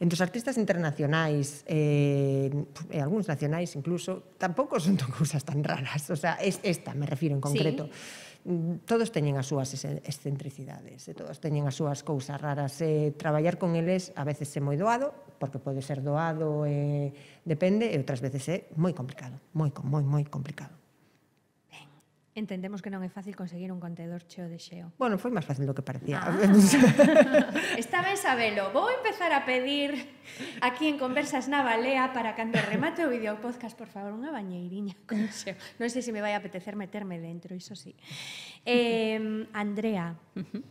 entre os artistas internacionais eh, e algúns nacionais incluso, tampouco son cousas tan raras, o sea, es, esta me refiro en concreto. Sí. Todos teñen as súas excentricidades, e todos teñen as súas cousas raras. E traballar con eles a veces é moi doado, porque pode ser doado, eh, depende, e outras veces é moi complicado, moi, moi, moi complicado. Entendemos que non é fácil conseguir un contedor cheo de xeo. Bueno, foi máis fácil do que parecía. Ah. Está ben sabelo. Vou empezar a pedir aquí en Conversas na Balea para cando remate o vídeo podcast, por favor, unha bañeiriña con xeo. Non sei se me vai a apetecer meterme dentro, iso sí. Eh, Andrea, uh-huh.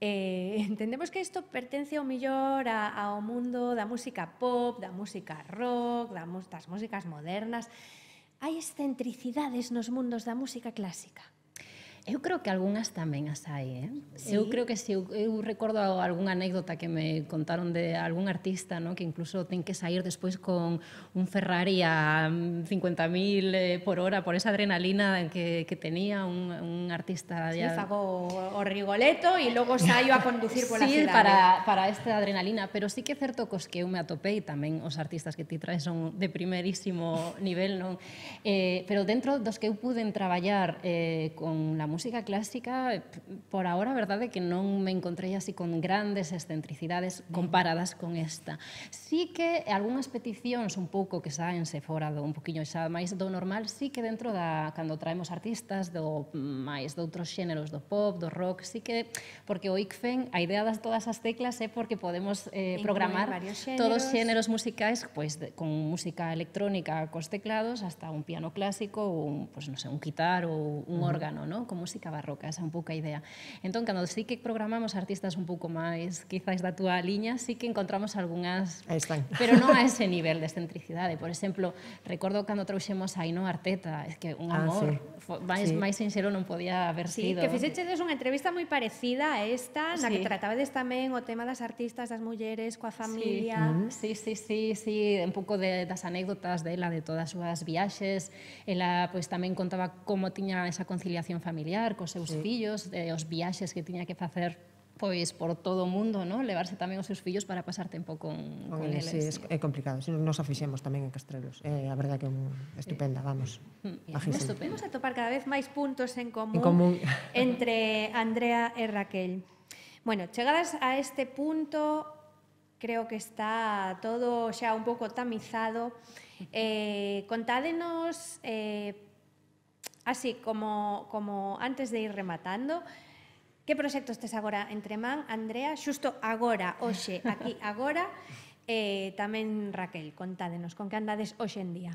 eh, entendemos que isto pertence ao millor a, ao mundo da música pop, da música rock, da, das músicas modernas. Hai excentricidades nos mundos da música clásica? Eu creo que algunhas tamén as hai, eh? Sí? Eu creo que si, eu, eu recordo algunha anécdota que me contaron de algún artista, ¿no? Que incluso ten que sair despois con un Ferrari a cincuenta mil eh, por hora por esa adrenalina que, que tenía un, un artista. Sí, ya... fago o Rigoletto e logo saio a conducir pola sí, cidade. para, para esta adrenalina, pero sí que é certo cos que eu me atopei tamén os artistas que ti traes son de primerísimo nivel, non? Eh, pero dentro dos que eu puden traballar eh, con la música clásica, por ahora, a verdade é que non me encontrei así con grandes excentricidades comparadas con esta. Sí que algunhas peticións un pouco que saense fora do un poquinho xa máis do normal, sí que dentro da cando traemos artistas do máis de outros xéneros do pop, do rock, sí que porque o I C F E N, a idea das todas as teclas é porque podemos eh, programar todos os xéneros musicais, pois de, con música electrónica cos teclados hasta un piano clásico ou un, pues, non sei, un quitar ou un uh-huh. órgano, ¿no? Como música barroca, esa é un pouco a idea. Entón, cando sí que programamos artistas un pouco máis, quizás da túa liña, sí que encontramos algunhas, pero non a ese nivel de excentricidade. Por exemplo, recordo cando trouxemos a Ainhoa Arteta, é que un amor, ah, sí. máis, sí. máis sinxelo non podía haber sí, sido. Que fixechedes unha entrevista moi parecida a esta, na sí. que tratabades tamén o tema das artistas, das mulleres, coa familia. Sí, sí, sí, sí, sí, un pouco de, das anécdotas dela, de todas as súas viaxes. Ela pois, tamén contaba como tiña esa conciliación familiar cos seus sí. fillos, de, os viaxes que tiña que facer pois por todo o mundo, ¿no? Levarse tamén os seus fillos para pasar tempo con, con eles. Sí, é, é complicado. Si nos afixemos tamén en Castrelos. É a verdade que é un, estupenda, vamos. Vamos a topar cada vez máis puntos en común, en común. entre Andrea e Raquel. Bueno, chegadas a este punto, creo que está todo xa un pouco tamizado. Eh, contádenos, eh, así como, como antes de ir rematando, que proxectos tes agora entre man, Andrea, xusto agora, hoxe, aquí, agora, e eh, tamén Raquel, contádenos, con que andades hoxe en día?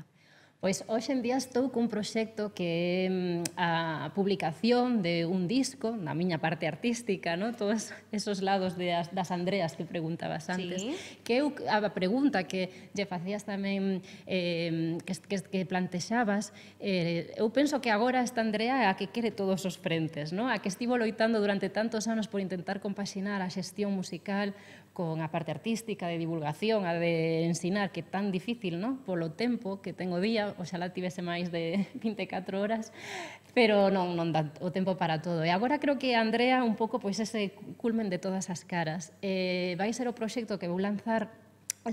Pois hoxe en día estou cun proxecto que é a publicación de un disco, na miña parte artística, ¿no? Todos esos lados de as, das Andreas que preguntabas antes. Sí. Que eu, a pregunta que lle facías tamén, eh, que, que, que plantexabas, eh, eu penso que agora esta Andrea é a que quere todos os frentes, ¿no? A que estivo loitando durante tantos anos por intentar compaxinar a xestión musical con a parte artística, de divulgación, a de ensinar, que é tan difícil, ¿no? Polo tempo que ten o día, oxalá tivese máis de vinte e catro horas, pero non, non dá o tempo para todo. E agora creo que Andrea un pouco pois ese culmen de todas as caras. Eh, vai ser o proxecto que vou lanzar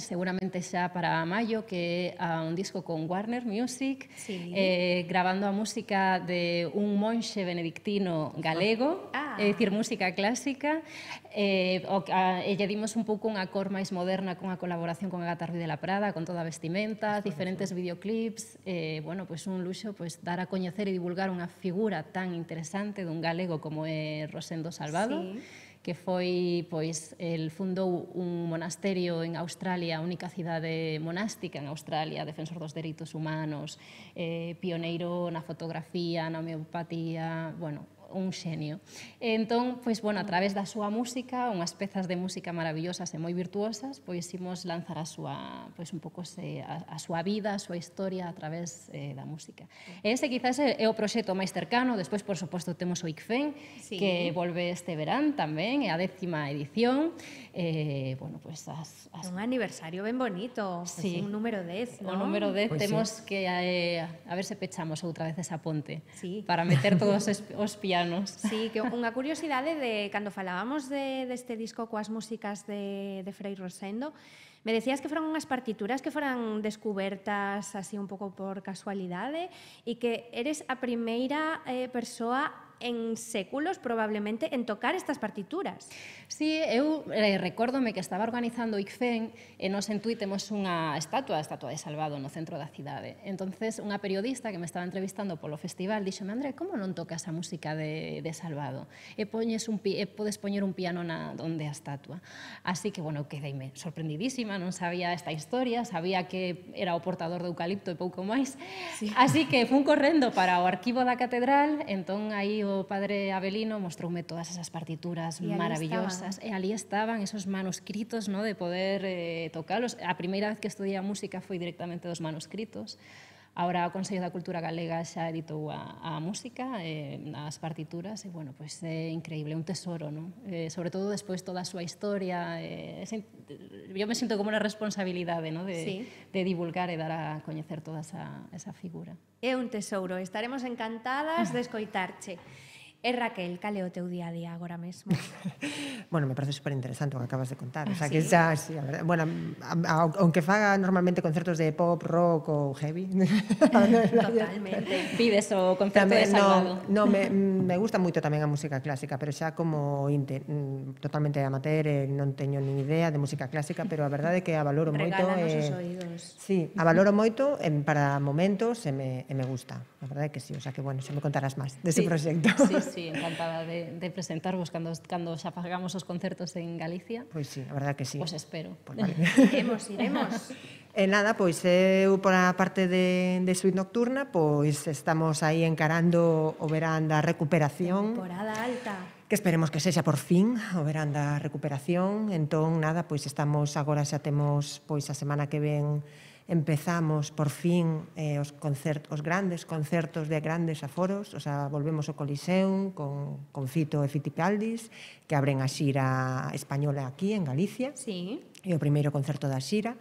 seguramente xa para maio, que é un disco con Warner Music, sí. eh, grabando a música de un monxe benedictino galego, ah. é dicir, música clásica, eh, o, a, e lle dimos un pouco unha cor máis moderna con a colaboración con Agatha Ruiz de la Prada, con toda a vestimenta, sí, diferentes sí. videoclips, eh, bueno, pues un luxo pues, dar a coñecer e divulgar unha figura tan interesante dun galego como é Rosendo Salvado, sí. que foi, pois, el fundou un monasterio en Australia, a única cidade monástica en Australia, defensor dos dereitos humanos, eh, pioneiro na fotografía, na homeopatía, bueno, un xenio. Entón, pois, bueno, a través da súa música, unhas pezas de música maravillosas e moi virtuosas, pois imos lanzar a súa, pois un pouco se, a, a súa vida, a súa historia a través eh, da música. E ese quizás é o proxecto máis cercano. Despois, por suposto, temos o I C F E N, sí. que volve este verán tamén, é a décima edición. Eh, bueno, pois as, as... Un aniversario ben bonito, sí. un número dez, ¿no? O número dez, pues temos sí. que eh, a ver se pechamos outra vez esa ponte sí. para meter todos os pianos. Sí, que unha curiosidade de cando falábamos de, deste disco coas músicas de, de Frei Rosendo, me decías que foran unhas partituras que foran descubertas así un pouco por casualidade e que eres a primeira eh, persoa en séculos, probablemente, en tocar estas partituras. Sí, eu eh, recórdome que estaba organizando o I C F E N e nos en Tui temos unha estatua, a estatua de Salvado no centro da cidade. Entonces, unha periodista que me estaba entrevistando polo festival díxome, André, como non tocas a música de, de Salvado? E, poñes un, e podes poñer un piano na, onde a estatua. Así que, bueno, quedeime sorprendidísima, non sabía esta historia, sabía que era o portador de eucalipto e pouco máis. Sí. Así que fun correndo para o arquivo da catedral, entón aí o padre Abelino mostroume todas esas partituras maravillosas estaban. E ali estaban esos manuscritos, ¿no? De poder eh, tocalos. A primeira vez que estudiei a música foi directamente dos manuscritos. Ahora o Consello da Cultura Galega xa editou a, a música, eh, as partituras, e, bueno, pues, é increíble, un tesoro, ¿no? Eh, sobre todo despois toda a súa historia. Eh, es, yo me sinto como unha responsabilidade, ¿no? De, sí. de divulgar e dar a coñecer toda esa, esa figura. É un tesouro, estaremos encantadas de escoitarche. E Raquel, cal é o teu día a día agora mesmo? Bueno, me parece super interesante o que acabas de contar. O sea, ¿sí? que xa, sí, a verdade. Bueno, a, a, aunque faga normalmente concertos de pop, rock ou heavy. Totalmente. Vives o concerto tamén, de Salvado. No, no me, me gusta moito tamén a música clásica, pero xa como inte, totalmente amateur, eh, non teño nin idea de música clásica, pero a verdade é que a valoro moito. Regálanos eh, os oídos. Sí, a valoro moito en, para momentos e me, e me gusta. A verdade é que sí, o sea que, bueno, xa me contarás máis dese sí. proxecto. Sí, sí. Sí, encantada de, de presentarvos cando, cando xa pagamos os concertos en Galicia. Pois sí, a verdade que sí. Os espero. Pues vale. Iremos, iremos. E nada, pois eu por a parte de, de Suite Nocturna, pois estamos aí encarando o verán da recuperación. Temporada alta. Que esperemos que sexa por fin o verán da recuperación. Entón, nada, pois estamos, agora xa temos, pois a semana que ven empezamos por fin eh, os, concert, os grandes concertos de grandes aforos, o sea, volvemos ao Coliseum con, con Fito e Fitipaldis, que abren a xira española aquí en Galicia. Sí. E o primeiro concerto da xira.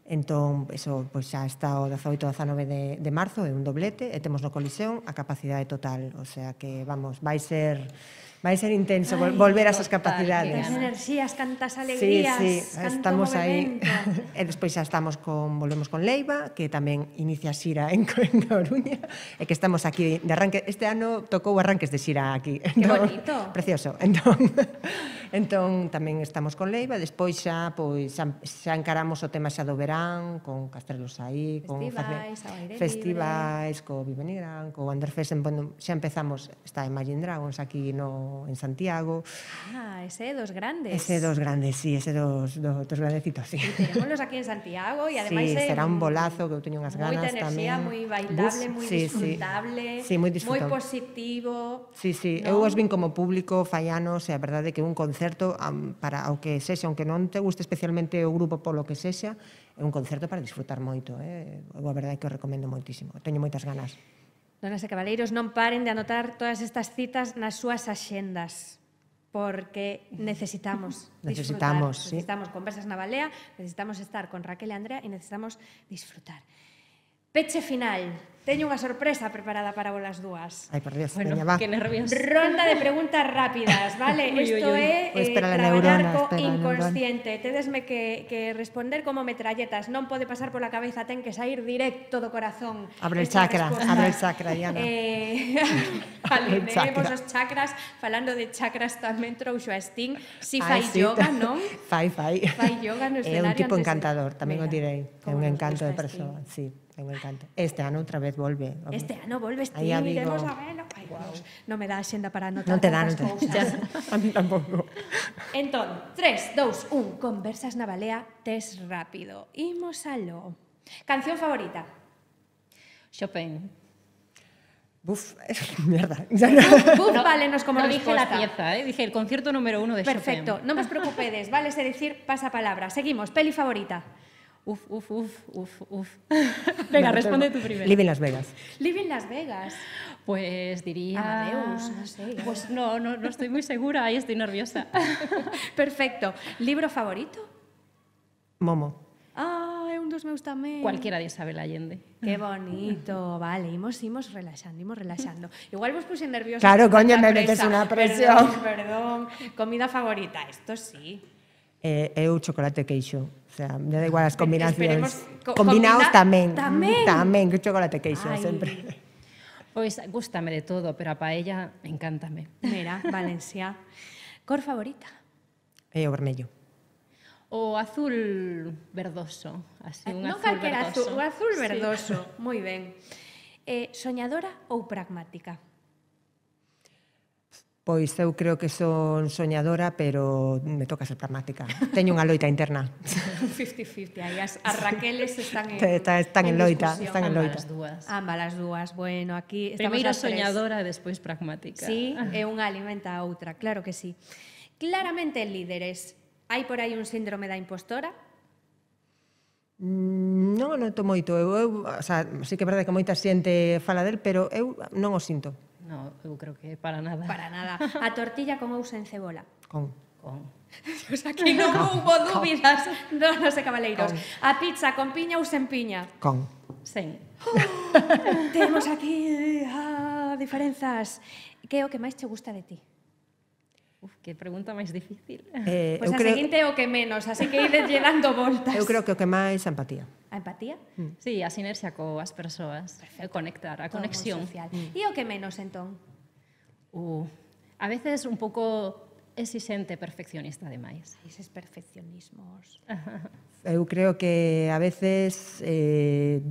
Entón, eso pois xa está o dezaoito e dezanove de, de marzo, é un doblete, e temos no Coliseum a capacidade total, o sea que, vamos, vai ser vai ser intenso Ai, volver a esas total, capacidades. Cantas enerxías, cantas alegrías, Sí, sí, canto estamos aí. movimento. E despois xa estamos con, volvemos con Leiva, que tamén inicia xira en, en Coruña, e que estamos aquí de arranque. Este ano tocou arranques de xira aquí. Que bonito. Precioso. Entón, entón tamén estamos con Leiva, despois xa, pois, xa, xa encaramos o tema xa do verán, con Castrelos aí, con Festivais, ao aire festivais, co Vivenigran, co Underfest, bueno, xa empezamos, está Imagine Dragons aquí no en Santiago. Ah, ese dos grandes. Ese dos grandes, sí, ese dos, dos, dos grandecitos, sí. Tenémoslos aquí en Santiago e ademais sí, é será un bolazo que eu teño unhas ganas moita enerxía, tamén. moi bailable, Buf, moi sí, disfrutable, sí, sí, moi moi disfrutable. positivo. Sí, sí, ¿no? eu os vin como público fai anos e a verdade é que un concerto um, para o que sexa, aunque non te guste especialmente o grupo polo que sexa, é un concerto para disfrutar moito, eh? Eu a verdade é que o recomendo moitísimo. Teño moitas ganas. Donas e cabaleiros, non paren de anotar todas estas citas nas súas axendas, porque necesitamos Necesitamos, disfrutar. sí. Necesitamos conversas na balea, necesitamos estar con Raquel e Andrea e necesitamos disfrutar. Peche final. Teño unha sorpresa preparada para vos as dúas. Ai, por Dios, Bueno, veña, va. qué nervios. Ronda de preguntas rápidas, vale? Uy, uy, Isto uy. é Pois eh, espera la traballar neurona, co espera la inconsciente. Tedesme que, que responder como metralletas. Non pode pasar pola cabeza, ten que sair directo do corazón. Abre el Estas chakra, respostas. abre el chakra, Diana. Eh, El chakra. alineemos os chakras. Falando de chakras tamén trouxo a Sting. Si Ai, fai sí. yoga, non? Fai, fai. Fai yoga no É escenario un tipo antes de- encantador, tamén o Mira, direi. É como un nos encanto de gusta Sting. persoa, sí, é un encanto. Este ano outra vez volve. Este ano volve Sting, Aí a Vigo. iremos a verlo. Ai, Dios, non me dá a xenda para anotar Non te dá, non tantas te cousas. A mí tampouco. Entón, tres, dous, un, conversas na balea, tes rápido. Imos aló. Canción favorita? Chopin. Buf, mierda. Ya no. Buf, válenos como no dije la resposta. pieza, ¿eh? Dije el concierto número uno de Perfecto, Chopin. non vos preocupedes, vale se decir pasapalabra. Seguimos, peli favorita? Uf, uf, uf, uf, uf. Venga, responde tú primero. Live en Las Vegas. Living Las Vegas. Pues diría... Amadeus, no sé. Pues no, no, no estoy muy segura, ahí estoy nerviosa. Perfecto. Libro favorito? Momo. Ah, é un dos meus tamén. Cualquiera de Isabel Allende. Que bonito. Vale, imos, imos relaxando, imos relaxando. Igual vos puse nerviosa. Claro, con coño, tanta me metes presa. unha presión. Perdón, perdón. Comida favorita, esto sí. Eh, eu chocolate e queixo. O sea, me da igual as Esperemos, combinacións. co- Combinados combina- tamén. tamén. Tamén, que chocolate e queixo, Ai. sempre. Pues gústame de todo, pero a paella encántame. Mira, Valencia. Cor favorita? E o vermello. O azul verdoso, así un non azul calquera verdoso. azul, o azul Sí. verdoso. Moi ben. Eh, soñadora ou pragmática? Pois eu creo que son soñadora, pero me toca ser pragmática. Teño unha loita interna. cincuenta cincuenta, aí as, as Raqueles están en, Está- están en loita, discusión. están en Ambas loita. as dúas. Ambas as dúas. Bueno, aquí estamos Primeiro as tres. soñadora e despois pragmática. Sí, e unha alimenta a outra, claro que sí. Claramente líderes. Hai por aí un síndrome da impostora? Mm, Non o noto moito. Eu, eu, o sea, sí que é verdade que moita xente fala del, pero eu non o sinto. No, eu creo que para nada. Para nada. A tortilla con ou sen cebola? Con. Con. Pois aquí non houbo dúbidas, non sei cabaleiros. A pizza con piña ou sen piña? Con. Sen. Temos aquí ah, diferenzas. Que é o que máis che gusta de ti? Uf, que pregunta máis difícil. Eh, Pois eu a creo, seguinte é o que menos, así que ideslle dando voltas. eu creo que o que máis é a empatía. A empatía? Sí, a sinerxia coas persoas. Perfecto. Conectar, a Todo moi conexión. social. E o que menos, entón? Uh, a veces un pouco exixente, perfeccionista demais. Eses perfeccionismos. Eu creo que a veces eh,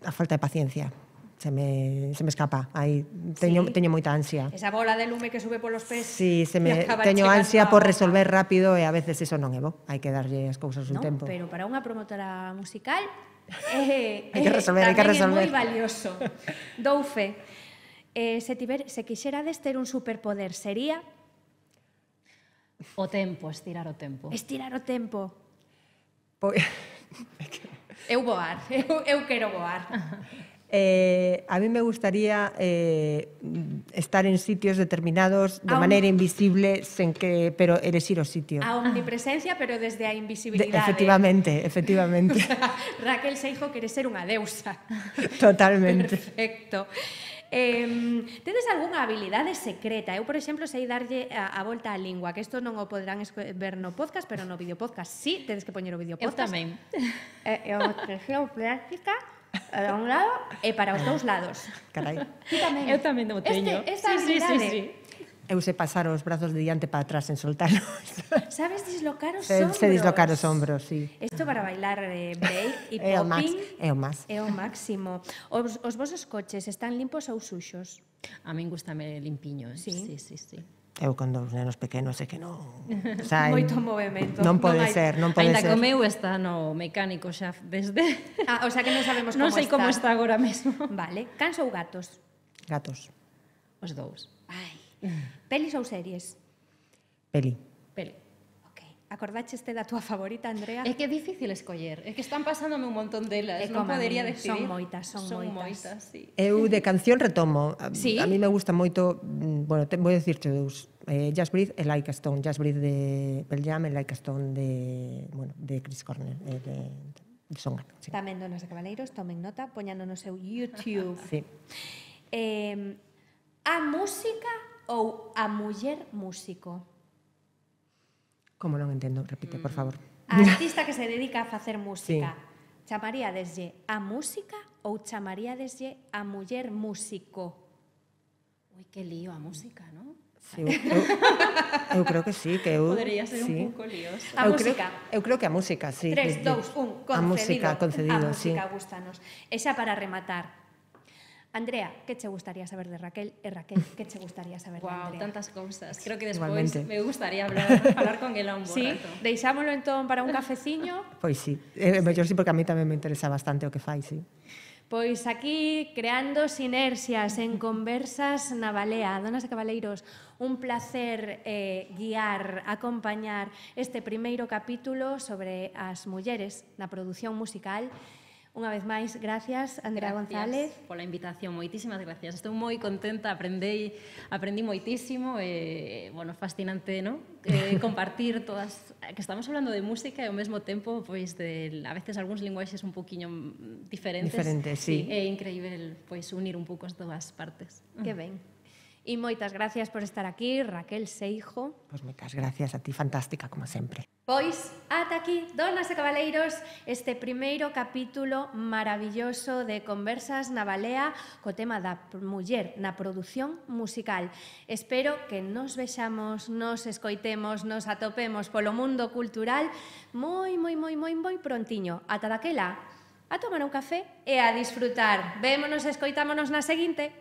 a falta de paciencia. se me, se me escapa. Aí teño, Sí. teño moita ansia. Esa bola de lume que sube polos pés. Sí, se e me, acaba teño chegando ansia á por boca. resolver rápido e a veces eso non é bo. Hai que darlle as cousas un No, tempo. pero para unha promotora musical eh, Hai que resolver, hai que tamén resolver. é moi valioso. Dou fe. Eh, se, tiver, se quixerades ter un superpoder, sería O tempo, estirar o tempo. estirar o tempo. Pois, Eu voar, eu, eu quero voar. eh, a mí me gustaría eh, estar en sitios determinados de A un- maneira invisible, sen que, pero elexir o sitio. A omnipresencia, pero desde a De, invisibilidade. efectivamente, efectivamente. Raquel Seijo quere ser unha deusa. Totalmente. Perfecto. Eh, tedes algunha habilidade secreta? Eu, por exemplo, sei darlle a, a volta á lingua, que isto non o poderán ver no podcast, pero no videopodcast sí, tedes que poñer o Eu videopodcast. tamén. É é unha expresión práctica para un lado e para os dous lados. Carai. Ti tamén. Eu tamén o teño. Este, esta sí, sí, sí, habilidade. sí. Eu sei pasar os brazos de diante para atrás en soltarlos. Sabes dislocar os Se, ombros. se dislocar os ombros, sí. Isto para bailar eh, break e É o max, popping. é o max. É o máximo. Os, os vosos coches están limpos ou suxos? A min gustame limpiño. eh. Sí. Sí, sí, sí. Eu con dous nenos pequenos é que non... O sea, Moito movemento. Non pode hai- ser, non pode Ainda ser. que o meu está no mecánico xa desde... Ah, o sea que non sabemos como non sei está. como está agora mesmo. Vale. Cans ou gatos? Gatos. Os dous. Ai. Pelis ou series? Peli. Peli. Ok. Acordácheste da túa favorita, Andrea? É que é difícil escoller. É que están pasándome un montón delas. É Non como a podería min. decidir. Son moitas, son son moitas. moitas sí. Eu de canción retomo. A, Sí? a mí me gusta moito, mm, bueno, te, vou dicirte dous. Eh, Just Breathe e Like a Stone. Just Breathe de Pearl Jam e Like a Stone de, bueno, de Chris Cornell, eh, de, de Soundgarden. Sí. Tamén donos de cabaleiros, tomen nota, poñano no seu YouTube. Sí. Eh, a música ou a muller músico? Como non entendo? Repite, por favor. A artista que se dedica a facer música. Sí. Chamaríadeslle a música ou chamaríadeslle a muller músico? Ui, que lío a música, non? Sí, eu, eu, eu creo que sí, que eu... Podería ser sí. un pouco lioso. A eu música. Creo, eu creo que a música, sí. tres, que- dous, un, concedido. A música, concedido, a sí. música gustanos. E xa para rematar. Andrea, que che gustaría saber de Raquel? E Raquel, que che gustaría saber de Wow, Andrea? tantas cousas. Creo que despois Igualmente. me gustaría hablar, falar con ela un bo Sí, rato. deixámolo entón para un cafeciño. Pois sí. É mellor sí, porque a mí tamén me interesa bastante o que fai, sí. Pois aquí, creando sinerxias en conversas na balea. Donas e cabaleiros, un placer eh, guiar, acompañar este primeiro capítulo sobre as mulleres na produción musical. Unha vez máis, gracias, Andrea González. Pola invitación, moitísimas gracias. Estou moi contenta, aprendei, aprendí moitísimo e, bueno, fascinante, ¿no? Eh, compartir todas, que estamos hablando de música e ao mesmo tempo, pois, de, a veces algúns linguaxes un poquinho diferentes. Diferentes, sí. É increíble, pois, unir un pouco as dúas partes. Que ben. E moitas gracias por estar aquí, Raquel Seijo. Pois moitas gracias a ti, fantástica, como sempre. Pois, ata aquí, donas e cabaleiros, este primeiro capítulo maravilloso de Conversas na Balea co tema da muller na produción musical. Espero que nos vexamos, nos escoitemos, nos atopemos polo mundo cultural moi, moi, moi, moi, moi prontiño. Ata daquela, a tomar un café e a disfrutar. Vémonos e escoitámonos na seguinte.